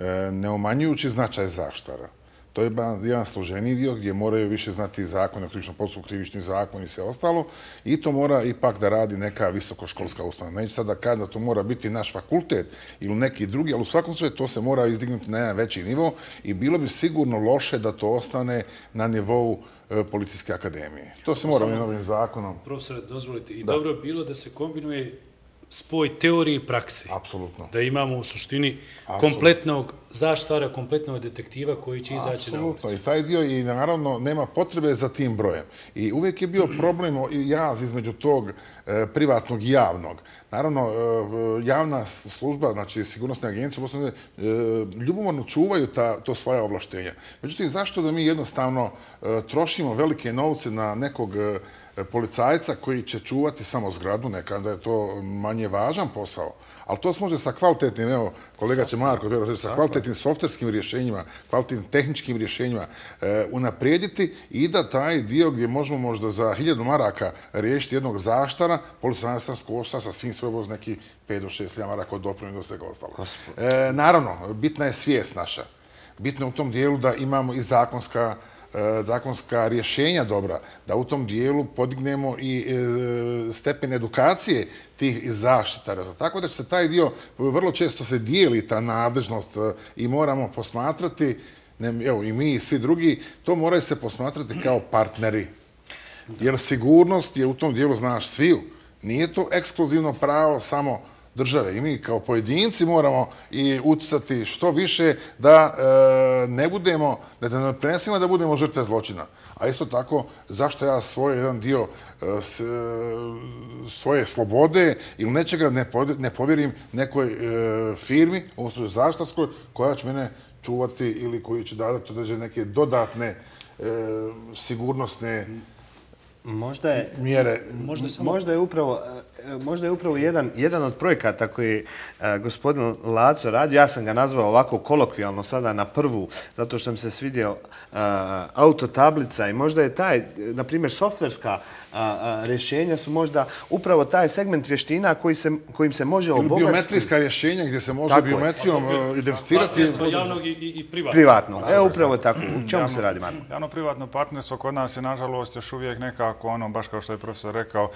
E, ne umanjujući značaj zaštara. To je jedan složeniji dio gdje moraju više znati zakon o krivičnom postupku, krivični zakon i sve ostalo. I to mora ipak da radi neka visokoškolska ustanova. Neću sad da kažem da to mora biti naš fakultet ili neki drugi, ali u svakom slučaju to se mora izdignuti na jedan veći nivo i bilo bi sigurno loše da to ostane na nivou Policijske akademije. To se mora novim zakonom. Profesore, dozvolite, i dobro je bilo da se kombinuje spoj teorije i prakse. Apsolutno. Da imamo u suštini kompletnog zaštitara, kompletnog detektiva koji će izaći na ulicu. Apsolutno. I taj dio i naravno nema potrebe za tim brojem. I uvijek je bio problem i jaz između tog e, privatnog i javnog. Naravno, e, javna služba, znači sigurnosne agencije, e, ljubomorno čuvaju ta, to svoja ovlaštenja. Međutim, zašto da mi jednostavno e, trošimo velike novce na nekog e, policajca koji će čuvati samo zgradu, neka da je to manje važan posao, ali to se može sa kvalitetnim, evo, kolega će Marko, sa kvalitetnim softverskim rješenjima, kvalitetnim tehničkim rješenjima e, unaprijediti i da taj dio gdje možemo možda za hiljadu maraka riješiti jednog zaštara, policajac košta sa svim svojom neki pet do šest hiljada maraka od dopremljenja do svega ostalo. E, naravno, bitna je svijest naša. Bitno je u tom dijelu da imamo i zakonska zakonska rješenja dobra, da u tom dijelu podignemo i stepen edukacije tih zaštitara. Tako da će se taj dio, vrlo često se dijeli ta nadležnost i moramo posmatrati, evo i mi i svi drugi, to moraju se posmatrati kao partneri. Jer sigurnost je u tom dijelu, znaš, sviju. Nije to ekskluzivno pravo samo države i mi kao pojedinci moramo i utjecati što više da e, ne budemo, da ne prenesimo da budemo žrtve zločina. A isto tako, zašto ja svoj jedan dio e, s, e, svoje slobode ili nečega ne, pod, ne povjerim nekoj e, firmi, u slučaju zaštarskoj, koja će mene čuvati ili koji će dati određene neke dodatne e, sigurnosne Možda je, mjere. Možda, samo... možda je upravo, možda je upravo jedan, jedan od projekata koji je gospodin Laco radio, ja sam ga nazvao ovako kolokvijalno sada na prvu, zato što mi se svidio autotablica i možda je taj, na primjer, softverska rješenja su možda upravo taj segment vještina koji se, kojim se može obogatiti. Ili biometrijska rješenja gdje se može tako biometrijom je. identificirati. Javnog i, i privatnog. Privatnog. Evo upravo tako. U čemu javno, se radi, Marko? Javno-privatno partnerstvo kod nas je, nažalost, još uvijek nekako, ono, baš kao što je profesor rekao,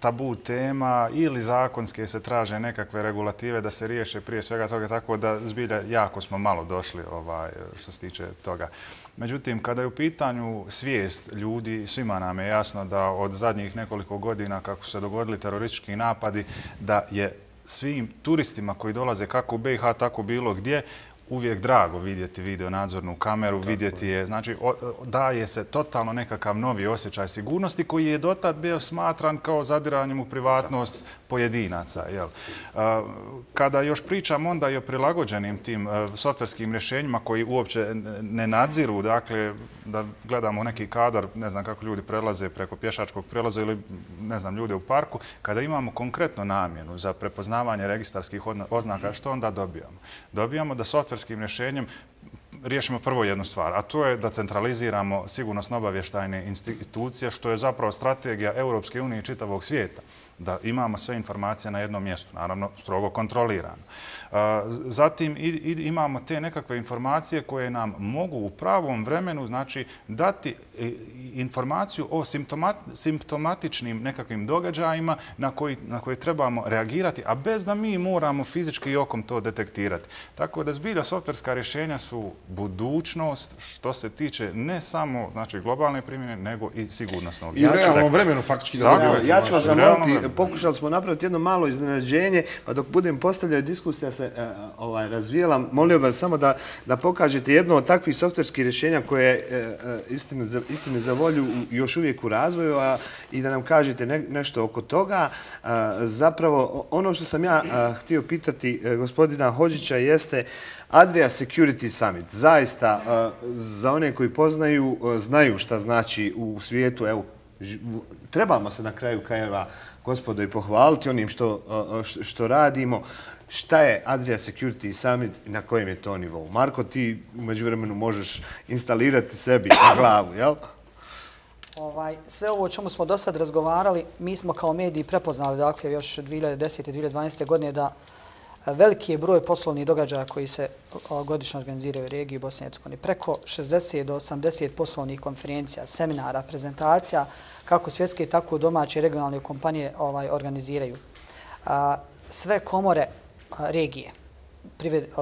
tabu tema ili zakonske se traže nekakve regulative da se riješe prije svega toga, tako da zbilja jako smo malo došli ovaj, što se tiče toga. Međutim, kada je u pitanju svijest ljudi, svima nam je jasno da od zadnjih nekoliko godina kako su se dogodili teroristički napadi, da je svim turistima koji dolaze kako u B i H, tako bilo gdje, uvijek drago vidjeti video nadzornu kameru, vidjeti je, znači daje se totalno nekakav novi osjećaj sigurnosti koji je dotad bio smatran kao zadiranjem u privatnost pojedinaca. Kada još pričam onda i o prilagođenim tim softverskim rješenjima koji uopće ne nadziru, dakle da gledamo neki kadar, ne znam kako ljudi prelaze preko pješačkog prelaza ili ne znam ljude u parku, kada imamo konkretno namjenu za prepoznavanje registarskih oznaka, što onda dobijamo? Dobijamo da softverskim rješenjem riješimo prvo jednu stvar, a to je da centraliziramo sigurnosno-obavještajne institucije, što je zapravo strategija Europske unije i čitavog svijeta, da imamo sve informacije na jednom mjestu, naravno strogo kontrolirano. Zatim imamo te nekakve informacije koje nam mogu u pravom vremenu znači dati informaciju o simptomatičnim nekakvim događajima na koje trebamo reagirati, a bez da mi moramo fizički i okom to detektirati. Tako da zbilja softverska rješenja su budućnost što se tiče ne samo znači globalne primjene, nego i sigurnosnog. I u realnom vremenu faktički da dobijemo. Ja ću vas zamoliti, pokušali smo napraviti jedno malo iznenađenje, pa dok budem postavljati diskusija se razvijela, molio vas samo da pokažete jedno od takvih softverskih rješenja koje je istine za volju još uvijek u razvoju i da nam kažete nešto oko toga. Zapravo, ono što sam ja htio pitati gospodina Hodžića jeste Adria Security Summit. Zaista, za one koji poznaju, znaju šta znači u svijetu. Evo, trebamo se na kraju krajeva, gospodo, i pohvaliti onim što radimo. Šta je Adria Security Summit i na kojem je to nivou? Marko, ti umeđu vremenu možeš instalirati sebi na glavu, jel? Sve ovo o čemu smo do sad razgovarali, mi smo kao mediji prepoznali, dakle, još dvije hiljade desete i dvije hiljade dvanaeste. godine da veliki je broj poslovnih događaja koji se godišnje organiziraju u regiji Bosne i Hercegovine. Preko šezdeset do osamdeset poslovnih konferencija, seminara, prezentacija, kako svjetske, tako i domaće regionalne kompanije organiziraju. Sve komore regije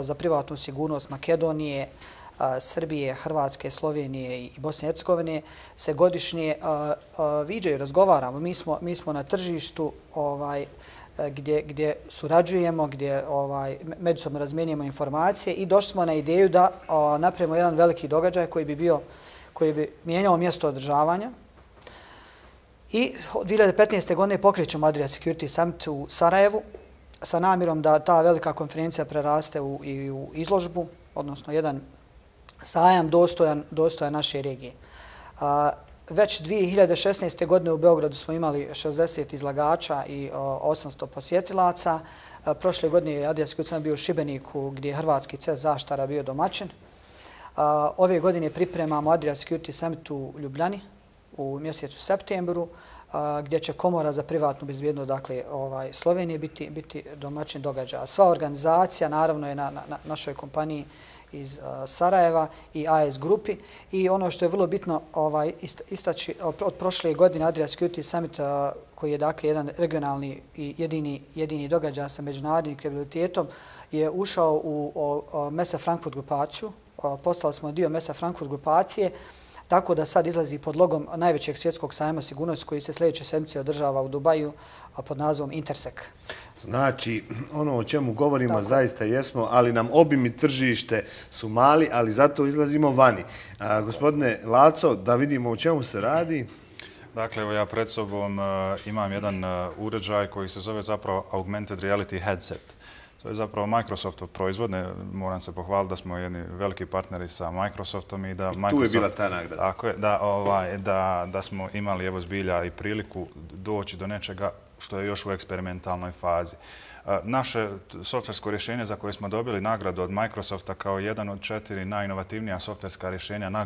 za privatnu sigurnost Makedonije, Srbije, Hrvatske, Slovenije i Bosne i Hercegovine se godišnje viđaju, razgovaramo. Mi smo na tržištu gdje surađujemo, gdje međusobno razmijenimo informacije i došli smo na ideju da napravimo jedan veliki događaj koji bi bio, koji bi mijenjao mjesto održavanja. I dvije hiljade petnaeste. godine pokrećemo Adria Security Summit u Sarajevu sa namjerom da ta velika konferencija preraste i u izložbu, odnosno jedan sajam dostojan naše regije. Već dvije hiljade šesnaeste. godine u Beogradu smo imali šezdeset izlagača i osamsto posjetilaca. Prošle godine je Adria Security Summit bio u Šibeniku gdje je Hrvatski C E S Zaštara bio domaćin. Ove godine pripremamo Adria Security Summit u Ljubljani u mjesecu septembru gdje će Komora za privatnu bezbjednost, dakle Slovenije, biti domaćin događaja. Sva organizacija naravno je na našoj kompaniji iz Sarajeva i A S grupi i ono što je vrlo bitno istaći od prošle godine Adria Security Summit koji je dakle jedan regionalni i jedini događaj sa međunarodnim kredibilitetom je ušao u Messe Frankfurt grupaciju. Postali smo dio Messe Frankfurt grupacije, tako da sad izlazi pod logom najvećeg svjetskog sajma sigurnosti koji se sljedeće sedmice održava u Dubaju pod nazivom Intersec. Znači, ono o čemu govorimo zaista jesmo, ali nam obim i tržište su mali, ali zato izlazimo vani. Gospodine Laco, da vidimo o čemu se radi. Dakle, evo ja pred sobom imam jedan uređaj koji se zove zapravo Augmented Reality Headset. To je zapravo Microsoftov proizvod. Moram se pohvaliti da smo jedni veliki partneri sa Microsoftom i da tu je bila ta nagrada. Tako je, da smo imali evo zbilja i priliku doći do nečega što je još u eksperimentalnoj fazi. Naše softversko rješenje za koje smo dobili nagradu od Microsofta kao jedan od četiri najinovativnija softverska rješenja na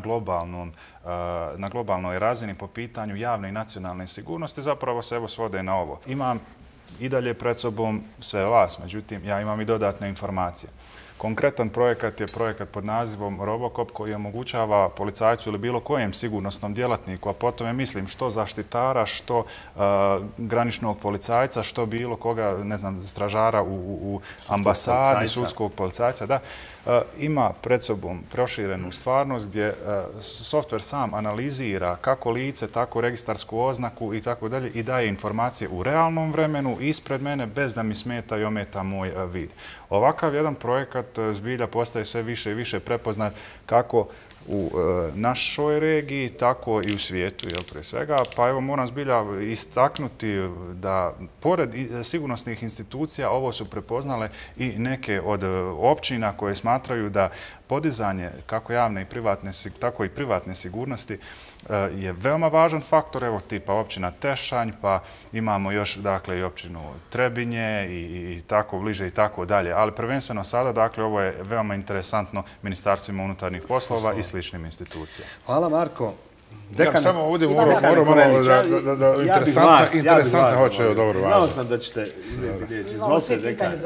globalnoj razini po pitanju javne i nacionalne sigurnosti zapravo se evo svode na ovo. Imam i dalje pred sobom sve vas, međutim, ja imam i dodatne informacije. Konkretan projekat je projekat pod nazivom Robocop koji omogućava policajcu ili bilo kojem sigurnosnom djelatniku, a potom je mislim što zaštitara, što graničnog policajca, što bilo koga, ne znam, stražara u ambasadi, sudskog policajca, da, ima pred sobom proširenu stvarnost gdje softver sam analizira kako lice, tako registarsku oznaku i tako dalje i daje informacije u realnom vremenu ispred mene bez da mi smeta i ometa moj vid. Ovakav jedan projekat projekat zbilja postaje sve više i više prepoznat kako u našoj regiji, tako i u svijetu, jel, pre svega. Pa evo, moram zbilja istaknuti da, pored sigurnosnih institucija, ovo su prepoznale i neke od općina koje smatraju da podizanje kako javne i privatne, tako i privatne sigurnosti je veoma važan faktor, evo tipa općina Tešanj, pa imamo još dakle i općinu Trebinje i, i tako bliže i tako dalje. Ali prvenstveno sada, dakle, ovo je veoma interesantno ministarstvima unutarnjih poslova i sličnim institucijama. Hvala, Marko. Ja samo ovdje moram malo da interesantno hoće, dobro važno. Znao sam da ćete uzeti riječ. Izvolite, dekane.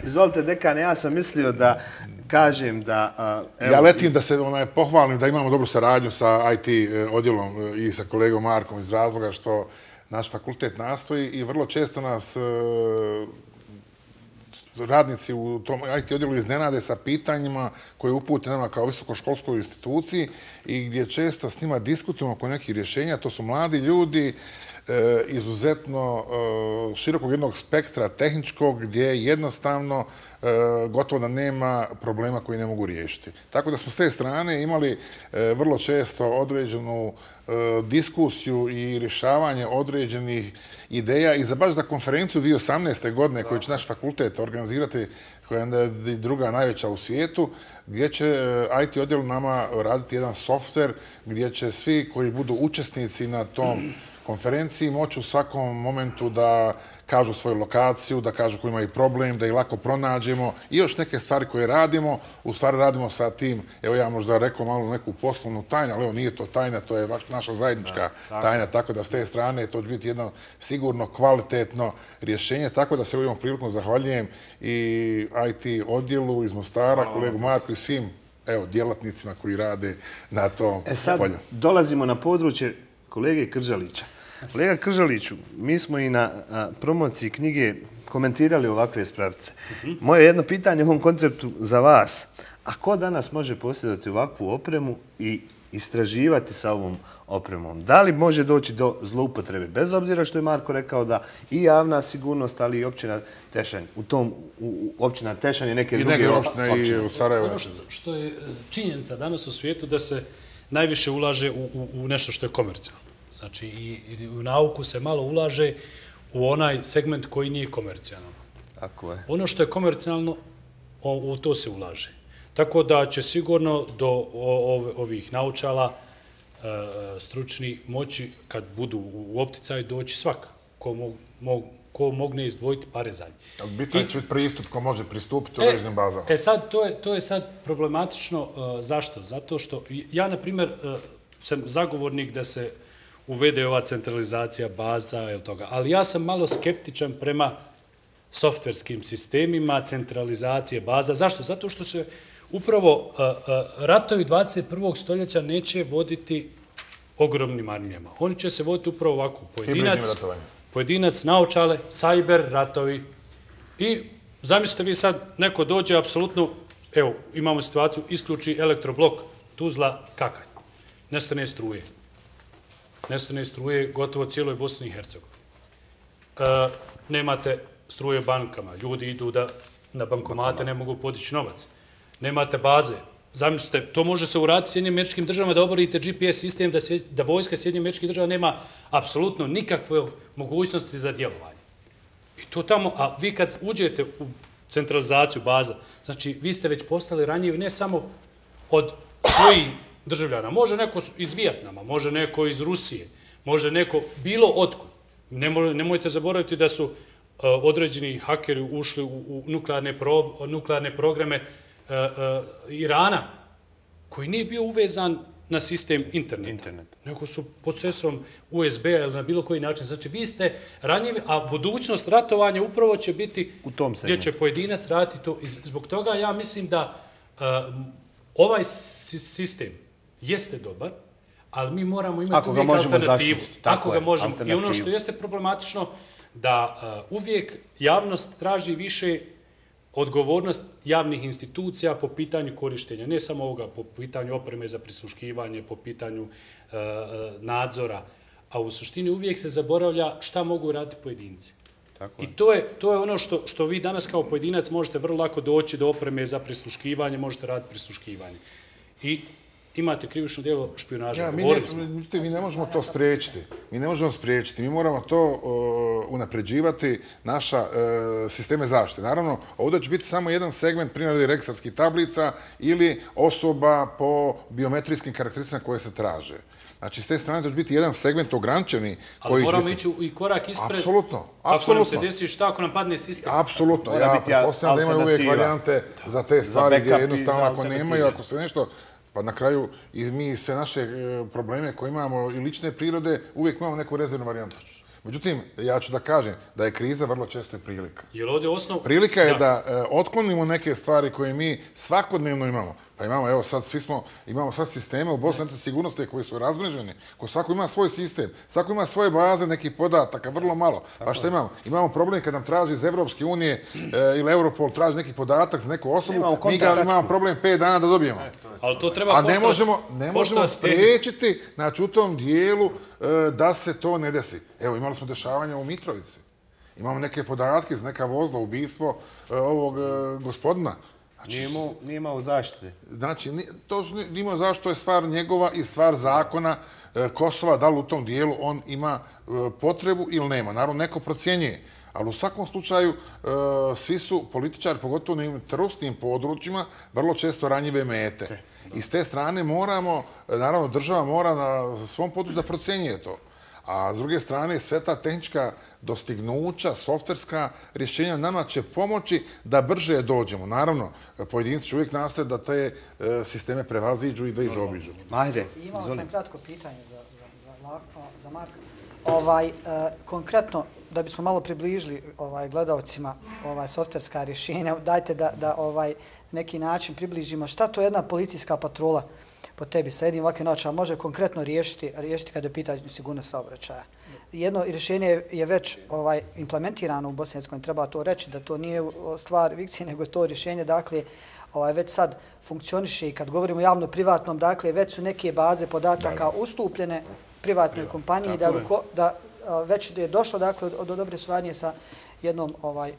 Izvolite, dekane, ja sam mislio da kažem da... Ja letim da se pohvalim da imamo dobru saradnju sa I T odjelom i sa kolegom Markom iz razloga što naš fakultet nastoji i vrlo često nas radnici u tom I T odjelu iznenade sa pitanjima koje upute nama kao visokoškolskoj instituciji i gdje često s njima diskutujemo oko nekih rješenja. To su mladi ljudi izuzetno širokog jednog spektra tehničkog gdje jednostavno gotovo da nema problema koji ne mogu riješiti. Tako da smo s te strane imali vrlo često određenu diskusiju i rješavanje određenih ideja i za baš za konferenciju dvije tisuće osamnaeste. godine koju će naš fakultet organizirati, koja je druga najveća u svijetu, gdje će I T odjel nama raditi jedan softver gdje će svi koji budu učesnici na tom konferenciji moći u svakom momentu da kažu svoju lokaciju, da kažu koji imaju problem, da ih lako pronađemo i još neke stvari koje radimo. U stvari radimo sa tim, evo ja možda rekao malo neku poslovnu tajnu, ali evo nije to tajna, to je naša zajednička tajna, tako da s te strane to će biti jedno sigurno kvalitetno rješenje, tako da se ovom prilikom zahvaljujem i I T odjelu iz Mostara, kolegu Marku i svim evo, djelatnicima koji rade na tom polju. E sad dolazimo na područje kolege Kržalića. Kolega Kržaliću, mi smo i na promociji knjige komentirali ovakve spravice. Moje jedno pitanje u ovom konceptu za vas. A ko danas može posjedati ovakvu opremu i istraživati sa ovom opremom? Da li može doći do zloupotrebe? Bez obzira što je Marko rekao da i javna sigurnost, ali i općina Tešanj. U tom općina Tešanj i neke druge općine. I u Sarajevo. Ono što je činjenica danas u svijetu da se najviše ulaže u, u, u nešto što je komercijalno. Znači, i, i u nauku se malo ulaže u onaj segment koji nije komercijalno. Tako je. Ono što je komercijalno, o, u to se ulaže. Tako da će sigurno do o, o, ovih naučala e, stručni moći, kad budu u opticaju, doći svaka ko, mo, mo, ko mogne izdvojiti pare za njih. Bitan će biti pristup ko može pristupiti u određenim bazama. E sad, to je, to je sad problematično. Uh, zašto? Zato što ja, na primjer, uh, sam zagovornik da se uvede ova centralizacija baza ili toga, ali ja sam malo skeptičan prema softverskim sistemima, centralizacije baza. Zašto? Zato što se upravo uh, uh, ratovi dvadeset prvog stoljeća neće voditi ogromnim armijama. Oni će se voditi upravo ovako. Pojedinac, pojedinac, naočale, sajber, ratovi. I zamislite vi sad, neko dođe apsolutno, evo, imamo situaciju, isključi elektroblok Tuzla Kakanj. Nestane struje. Nestane struje gotovo cijeloj Bosni i Hercegovini. E, nemate struje bankama. Ljudi idu da na bankomate ne mogu podići novac. Nemate baze. Zamislite, to može se uraditi s Sjedinjenim Američkim Državama da oborite G P S sistem, da, se, da vojska Sjedinjenih Američkih Država nema apsolutno nikakve mogućnosti za djelovanje. I to tamo, a vi kad uđete u centralizaciju baza, znači vi ste već postali ranjivi ne samo od svojih državljana, može neko iz Vijetnama, može neko iz Rusije, može neko bilo otkud. Nemoj, nemojte zaboraviti da su uh, određeni hakeri ušli u, u nuklearne, pro, nuklearne programe uh, uh, Irana, koji nije bio uvezan na sistem interneta, Internet. Nego su procesom U S B-a ili na bilo koji način. Znači, vi ste ranjivi, a budućnost ratovanja upravo će biti u tom gdje će pojedinac raditi to. I zbog toga ja mislim da uh, ovaj sistem jeste dobar, ali mi moramo imati uvijek alternativu. Ako ga možemo. I ono što jeste problematično, da uh, uvijek javnost traži više odgovornost javnih institucija po pitanju korištenja, ne samo ovoga, po pitanju opreme za prisluškivanje, po pitanju uh, nadzora, a u suštini uvijek se zaboravlja šta mogu raditi pojedinci. I to je, to je ono što, što vi danas kao pojedinac možete vrlo lako doći do opreme za prisluškivanje, možete raditi prisluškivanje. I imate krivično djelo špijunaža. Ja, mi, ne, mi ne možemo to spriječiti. Mi ne možemo spriječiti. Mi moramo to uh, unapređivati naša uh, sisteme zaštite. Naravno, ovdje će biti samo jedan segment primjeri registarskih tablica ili osoba po biometrijskim karakteristikama koje se traže. Znači, s te strane će biti jedan segment ograničeni. Ali moramo biti... ići i korak ispred. Apsolutno. Ako nam se desi šta, ako nam padne sistem. Apsolutno. Ja pretpostavljam da imaju uvijek varijante za te stvari gdje jednostavno ako nemaju, ako se nešto... Pa na kraju i mi sve naše probleme koje imamo i lične prirode uvijek imamo neku rezervnu varijantu. Međutim, ja ću da kažem da je kriza vrlo često i prilika. Jer ovdje osnov... Prilika je da otklonimo neke stvari koje mi svakodnevno imamo. Pa imamo, evo sad, svi smo, imamo sad sisteme u Bosni sigurnosti koji su razmreženi, ko svako ima svoj sistem, svako ima svoje baze nekih podataka, vrlo malo. Pa što imamo? Imamo problem kad nam traži iz Evropske unije ili Europol traži neki podatak za neku osobu, mi ga imamo problem pet dana da dobijemo. Ali to treba A ne možemo, ne možemo spriječiti, znači u tom dijelu da se to ne desi. Evo, imali smo dešavanja u Mitrovici. Imamo neke podatke za neka vozla, ubistvo ovog gospodina. Nije imao zaštite. Znači, to nije imao zaštite, to je stvar njegova i stvar zakona Kosova, da li u tom dijelu on ima potrebu ili nema. Naravno, neko procjenjuje. Ali u svakom slučaju, svi su političari, pogotovo na trusnim područjima, vrlo često ranjive mete. I s te strane moramo, naravno, država mora na svom području da procjenjuje to. A s druge strane, sve ta tehnička dostignuća, softverska rješenja nama će pomoći da brže dođemo. Naravno, pojedinci će uvijek nastoje da te sisteme prevaziđu i da izobiđu. Ajde. Imao sam kratko pitanje za, za, za, za Marka. Ovaj, e, konkretno, da bismo malo približili ovaj, gledalcima ovaj, softverska rješenja, dajte da, da ovaj, neki način približimo šta to jedna policijska patrola po tebi sa jednim ovakvim način može konkretno riješiti, riješiti kada je pitanje sigurnost saobraćaja. Jedno rješenje je već ovaj, implementirano u Bosni i Hercegovini, treba to reći, da to nije stvar fikcije, nego je to rješenje, dakle, ovaj, već sad funkcioniše i kad govorimo o javno-privatnom, dakle, već su neke baze podataka ustupljene privatnoj kompaniji, da, ruko, da već je došlo dakle, do, do dobre suradnje sa jednom ovaj,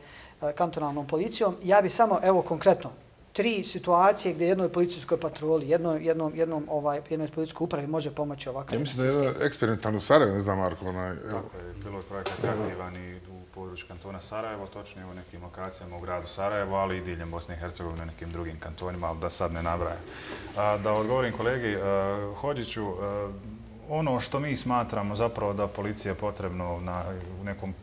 kantonalnom policijom. Ja bi samo, evo konkretno, tri situacije gdje jednoj policijskoj patroli, jednom, jednom, jednom, ovaj, jednoj policijskoj upravi može pomoći ovakav sistem. Ja mislim da je jedan eksperimentalni u Sarajevo, ne znam Marko. Onaj, tako je, bilo je projekat aktivan i u području kantona Sarajevo, točnije u nekim lokacijama u gradu Sarajevo, ali i diljem Bosne i Hercegovine, nekim drugim kantonima, ali da sad ne nabrajam. Da odgovorim kolegi Hodžiću, ono što mi smatramo zapravo da policija je potrebno na, u nekom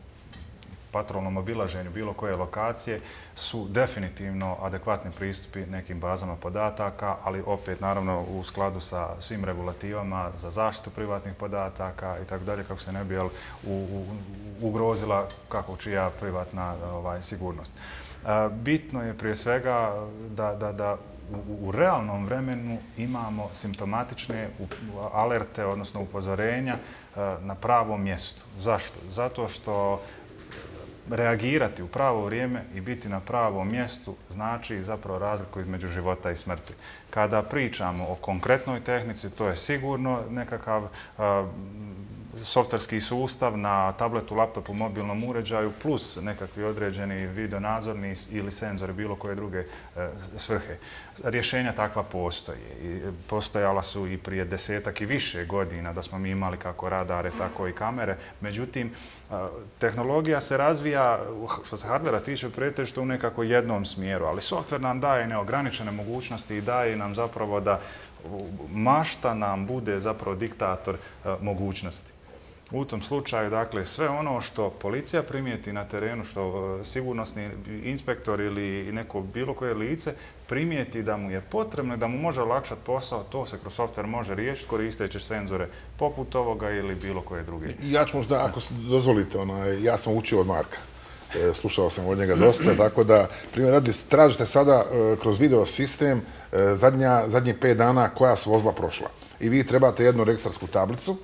patrolnom obilaženju bilo koje lokacije su definitivno adekvatni pristupi nekim bazama podataka, ali opet naravno u skladu sa svim regulativama za zaštitu privatnih podataka i tako dalje, kako se ne bi jel, u, u, ugrozila kako čija privatna ovaj, sigurnost. Bitno je prije svega da, da, da u, u realnom vremenu imamo simptomatične alerte, odnosno upozorenja na pravom mjestu. Zašto? Zato što reagirati u pravo vrijeme i biti na pravom mjestu znači zapravo razliku između života i smrti. Kada pričamo o konkretnoj tehnici, to je sigurno nekakav a, softverski sustav na tabletu, laptopu, mobilnom uređaju plus nekakvi određeni videonadzorni ili senzori bilo koje druge e, svrhe. Rješenja takva postoje. I postojala su i prije desetak i više godina da smo mi imali kako radare, tako i kamere. Međutim, tehnologija se razvija, što se hardvera tiče, pretežito u nekako jednom smjeru, ali softver nam daje neograničene mogućnosti i daje nam zapravo da mašta nam bude zapravo diktator mogućnosti. U tom slučaju, dakle, sve ono što policija primijeti na terenu, što sigurnosni inspektor ili neko bilo koje lice primijeti da mu je potrebno i da mu može olakšati posao, to se kroz softver može riješiti koristeći senzore poput ovoga ili bilo koje druge. Ja ću možda, ako dozvolite, onaj, ja sam učio od Marka. Slušao sam od njega dosta, tako da, primjer radi, tražite sada kroz video sistem zadnja, zadnjih pet dana koja su vozila prošla. I vi trebate jednu registarsku tablicu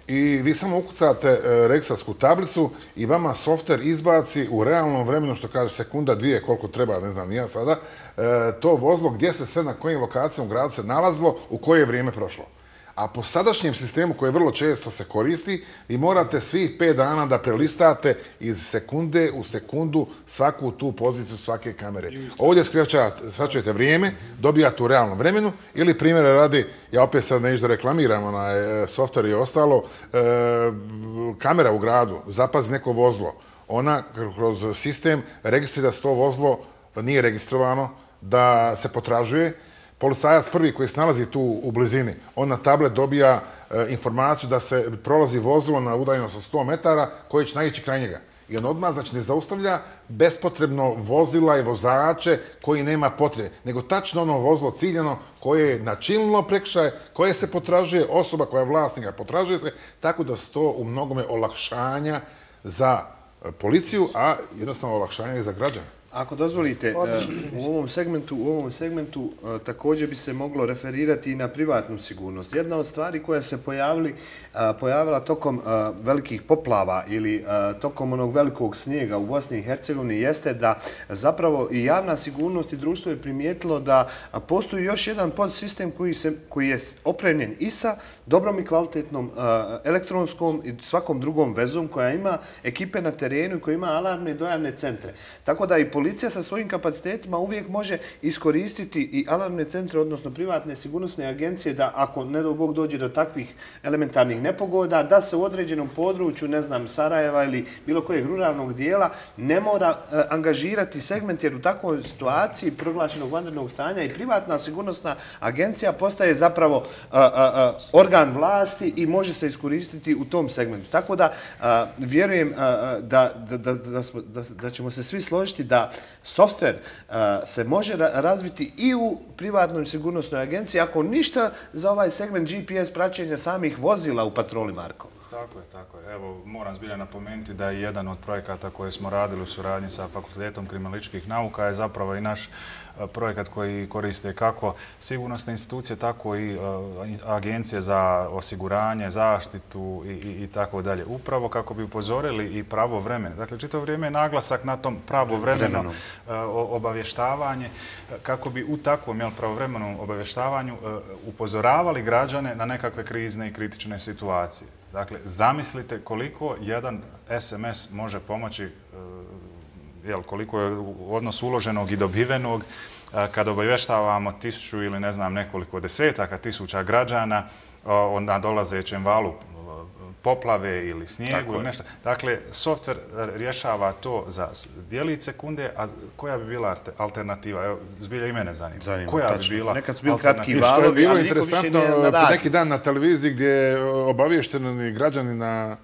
i vi samo ukucate registarsku tablicu i vama softver izbaci u realnom vremenu, što kaže sekunda, dvije, koliko treba, ne znam, nije sada, to vozilo gdje se sve na kojim lokacijama u gradu se nalazilo, u koje vrijeme prošlo. A po sadašnjem sistemu koji vrlo često se koristi, vi morate svih pet dana da prelistate iz sekunde u sekundu svaku tu poziciju svake kamere. Ovdje skraćujete vrijeme, dobijate u realnom vremenu ili primjere radi, ja opet sad neću da reklamiram onaj softver i ostalo, kamera u gradu zapazi neko vozlo. Ona kroz sistem registrira da se to vozlo nije registrovano, da se potražuje. Policajac prvi koji se nalazi tu u blizini, on na tablet dobija informaciju da se prolazi vozilo na udaljenost od sto metara koje će naići kraj njega. I on odmah, znači, ne zaustavlja bespotrebno vozila i vozače koji nema potrebe, nego tačno ono vozilo ciljano koje je načinilo prekršaj, koje se potražuje, osoba koja je vlasnika potražuje se, tako da su to u mnogome olakšanja za policiju, a jednostavno olakšanja i za građane. Ako dozvolite, u ovom segmentu, u ovom segmentu također bi se moglo referirati i na privatnu sigurnost. Jedna od stvari koja se pojavili, pojavila tokom velikih poplava ili tokom onog velikog snijega u Bosni i Hercegovini jeste da zapravo i javna sigurnost i društvo je primijetilo da postoji još jedan podsistem koji, se, koji je opremljen i sa dobrom i kvalitetnom elektronskom i svakom drugom vezom koja ima ekipe na terenu i koja ima alarmne i dojavne centre. Tako da i policija sa svojim kapacitetima uvijek može iskoristiti i alarmne centre, odnosno privatne sigurnosne agencije, da ako, ne do Bog, dođe do takvih elementarnih nepogoda, da se u određenom području, ne znam, Sarajeva ili bilo kojeg ruralnog dijela, ne mora e, angažirati segment, jer u takvoj situaciji proglašenog vanrednog stanja i privatna sigurnosna agencija postaje zapravo a, a, a, organ vlasti i može se iskoristiti u tom segmentu. Tako da a, vjerujem a, da, da, da, da, smo, da, da ćemo se svi složiti da softver uh, se može ra razviti i u privatnoj sigurnosnoj agenciji, ako ništa za ovaj segment G P S praćenja samih vozila u patroli, Marko. Tako je, tako je. Evo, moram zbilja napomenuti da je jedan od projekata koje smo radili u suradnji sa Fakultetom kriminalističkih nauka je zapravo i naš projekat koji koriste kako sigurnosne institucije, tako i agencije za osiguranje, zaštitu i, i, i tako dalje. Upravo kako bi upozorili i pravovremeno. Dakle, čitavo vrijeme je naglasak na tom pravovremeno obavještavanje, kako bi u takvom jel, pravovremenom obavještavanju upozoravali građane na nekakve krizne i kritične situacije. Dakle, zamislite koliko jedan S M S može pomoći, jel, koliko je odnos uloženog i dobivenog kada obavještavamo tisuću ili ne znam nekoliko desetaka tisuća građana na dolazećem valu poplave ili snijegu ili nešto. Dakle, softver rješava to za dijelić sekunde, a koja bi bila alternativa? Evo, zbilja i mene zanima. Zanima, koja tačno. bi bila Nekad su bili alternativa? kratki valovi, što je bilo ali niko više nije na radi. neki dan na televiziji gdje je obavješteni građani na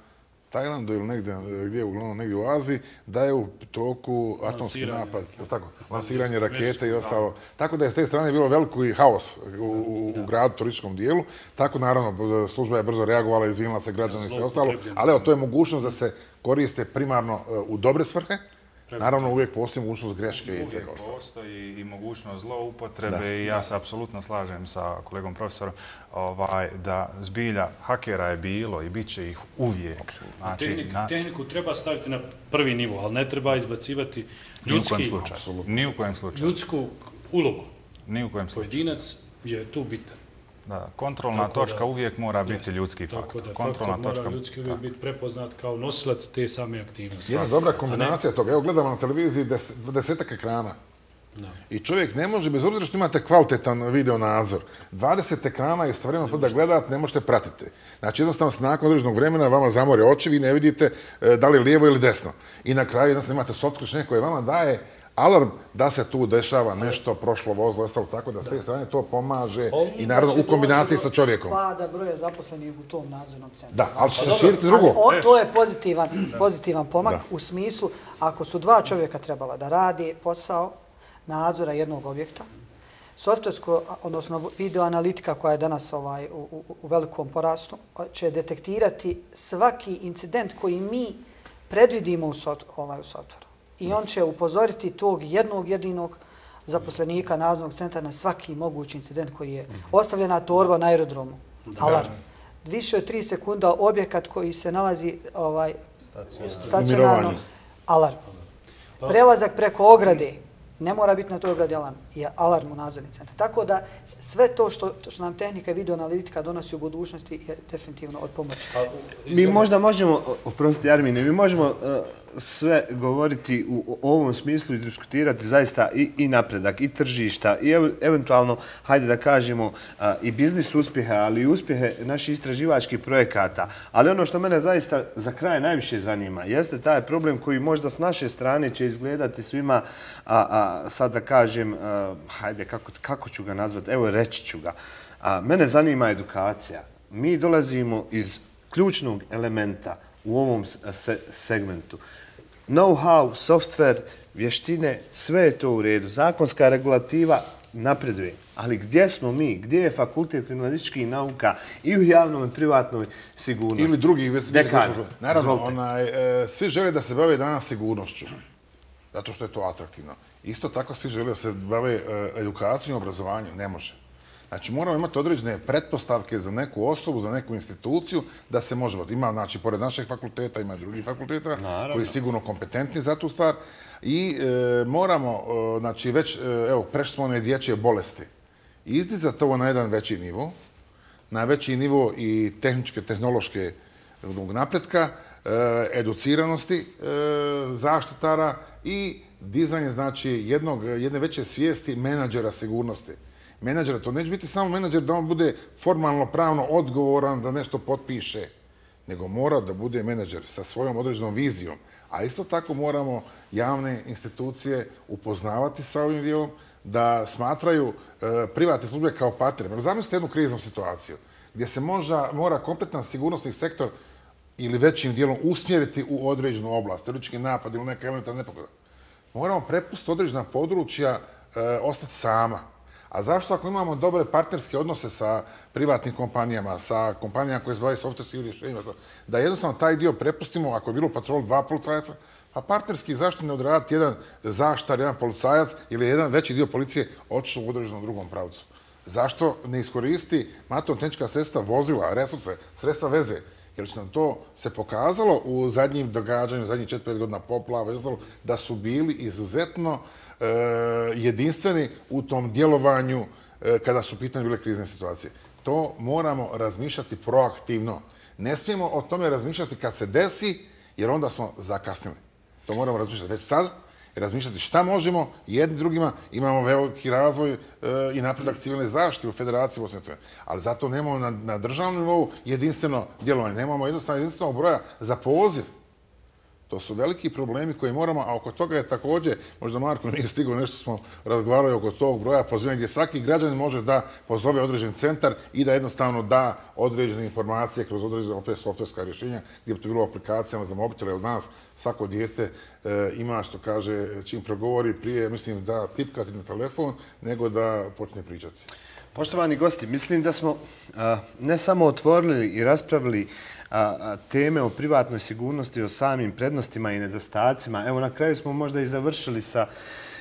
Tajlandu ili negdje, gdje je uglavnom negdje u Aziji, da je u toku atomski napad, tako, lansiranje rakete i ostalo. Tako da je s te strane bilo veliki haos u, u, u gradu, turističkom dijelu. Tako, naravno, služba je brzo reagovala, izvinila se građani i sve ostalo. Ali evo, to je mogućnost da se koriste primarno u dobre svrhe. Naravno, uvijek postoji mogućnost greške i tega ostalo. Uvijek postoji i mogućnost zloupotrebe i ja se apsolutno slažem sa kolegom profesorom ovaj, da zbilja hakera je bilo i bit će ih uvijek. Znači, Tehnik, na... Tehniku treba staviti na prvi nivo, ali ne treba izbacivati ljudski, ni u kojem slučaju. ljudsku ulogu. Ni u kojem slučaju. Pojedinac je tu bitan. Da, kontrolna tako točka da, uvijek mora biti jest, ljudski faktor. Tako da kontrolna faktor točka, mora ljudski uvijek biti prepoznat kao nosilac te same aktivnosti. Jedna dobra kombinacija ne... toga. Evo gledamo na televiziji des, desetak ekrana. No. I čovjek ne može, bez obzira što imate kvalitetan video nadzor, dvadeset ekrana istovremeno da gledate, ne možete pratiti. Znači jednostavno se nakon određenog vremena vama zamore oči, vi ne vidite e, da li je lijevo ili desno. I na kraju jednostavno imate software koje vama daje alarm da se tu dešava nešto, prošlo vozilo, ostalo tako da s te strane to pomaže i naravno u kombinaciji sa čovjekom. Pada broja zaposlenih u tom nadzornom centru. Da, ali će se širiti drugo. On, to je pozitivan, pozitivan pomak da. U smislu ako su dva čovjeka trebala da radi posao nadzora jednog objekta, softversko, odnosno videoanalitika koja je danas ovaj, u, u, u velikom porastu, će detektirati svaki incident koji mi predvidimo u, sot, ovaj, u softveru. I on će upozoriti tog jednog jedinog zaposlenika nadzornog centra na svaki mogući incident koji je ostavljena torba na aerodromu. Alarm. Više od tri sekunda objekat koji se nalazi ovaj, stacionarno. Alarm. Prelazak preko ograde. Ne mora biti na toj ogradi alarm. i alarm u nadzorni centar. Tako da sve to što, što nam tehnika i videoanalitika donosi u budućnosti je definitivno od pomoći. Mi možda možemo, oprostite Armine, mi možemo uh, sve govoriti u ovom smislu i diskutirati zaista i, i napredak, i tržišta, i ev, eventualno, hajde da kažemo, uh, i biznis uspjeha, ali i uspjehe naših istraživačkih projekata. Ali ono što mene zaista za kraj najviše zanima jeste taj problem koji možda s naše strane će izgledati svima, a, a, sad da kažem, a, hajde, kako, kako ću ga nazvati, evo reći ću ga. A, mene zanima edukacija. Mi dolazimo iz ključnog elementa u ovom se, segmentu. Know-how, software, vještine, sve je to u redu. Zakonska regulativa napreduje. Ali gdje smo mi? Gdje je fakultet kriminalističkih nauka i u javnom i privatnoj sigurnosti? Ili drugi. Dekan. Naravno, onaj, e, svi žele da se bave danas sigurnošću. Zato što je to atraktivno. Isto tako svi žele da se bave e, edukacijom i obrazovanjem. Ne može. Znači, moramo imati određene pretpostavke za neku osobu, za neku instituciju da se može. Ima, znači, pored našeg fakulteta, ima i drugih fakulteta Naravno. koji su sigurno kompetentni za tu stvar. I e, moramo, e, znači, već, e, evo, prešli smo one dječje bolesti. Izdizati ovo na jedan veći nivo, na veći nivo i tehničke, tehnološke napretka, educiranosti zaštitara i dizanje, znači, jednog, jedne veće svijesti menadžera sigurnosti. Menadžera, to neće biti samo menadžer da on bude formalno pravno odgovoran da nešto potpiše, nego mora da bude menadžer sa svojom određenom vizijom. A isto tako moramo javne institucije upoznavati sa ovim dijelom, da smatraju e, privatne službe kao partnere. Zamislite jednu kriznu situaciju gdje se možda mora kompletan sigurnosni sektor ili većim dijelom usmjeriti u određenu oblast, teroristički napad ili neka elementarna nepogoda. Moramo prepustiti određena područja, e, ostati sama. A zašto ako imamo dobre partnerske odnose sa privatnim kompanijama, sa kompanijama koje se bave softverskim rješenjima, da jednostavno taj dio prepustimo, ako je bilo patrol dva policajaca, pa partnerski zašto ne odraditi jedan zaštar, jedan policajac ili jedan veći dio policije otišao u određenom drugom pravcu? Zašto ne iskoristi materijalno-tehnička sredstva, vozila, resurse, sredstva veze? Jer će nam to se pokazalo u zadnjim događanju, u zadnjih četiri pet godina poplava i ostalo, da su bili izuzetno e, jedinstveni u tom djelovanju e, kada su pitanje bile krizne situacije. To moramo razmišljati proaktivno. Ne smijemo o tome razmišljati kad se desi, jer onda smo zakasnili. To moramo razmišljati već sad i razmišljati šta možemo jedni drugima. Imamo veliki razvoj e, i napredak civilne zaštite u Federaciji Bosne i Hercegovine. Ali zato nemamo na, na državnom nivou jedinstveno djelovanje. Nemamo jednostavno jedinstvenog broja za poziv. To su veliki problemi koji moramo, a oko toga je također, možda Marko nije stigao, nešto smo razgovarali oko tog broja pozivanja gdje svaki građanin može da pozove određen centar i da jednostavno da određene informacije kroz određene opet softverska rješenja gdje bi to bilo aplikacijama za mobitele. Od nas svako dijete e, ima, što kaže, čim progovori prije, mislim, da tipkati na telefon, nego da počne pričati. Poštovani gosti, mislim da smo a, ne samo otvorili i raspravili a, a, teme o privatnoj sigurnosti, o samim prednostima i nedostacima. Evo, na kraju smo možda i završili sa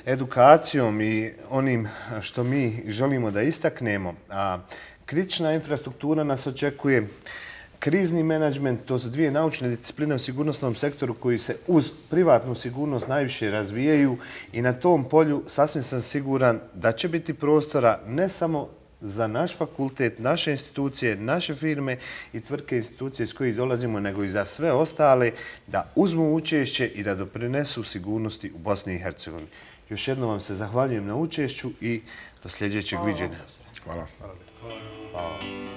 edukacijom i onim što mi želimo da istaknemo. A, kritična infrastruktura nas očekuje. Krizni menadžment, to su dvije naučne discipline u sigurnosnom sektoru koji se uz privatnu sigurnost najviše razvijaju i na tom polju sasvim sam siguran da će biti prostora ne samo za naš fakultet, naše institucije, naše firme i tvrtke institucije s kojih dolazimo, nego i za sve ostale da uzmu učešće i da doprinesu sigurnosti u Bosni i Hercegovini. Još jednom vam se zahvaljujem na učešću i do sljedećeg viđenja. Hvala. Hvala.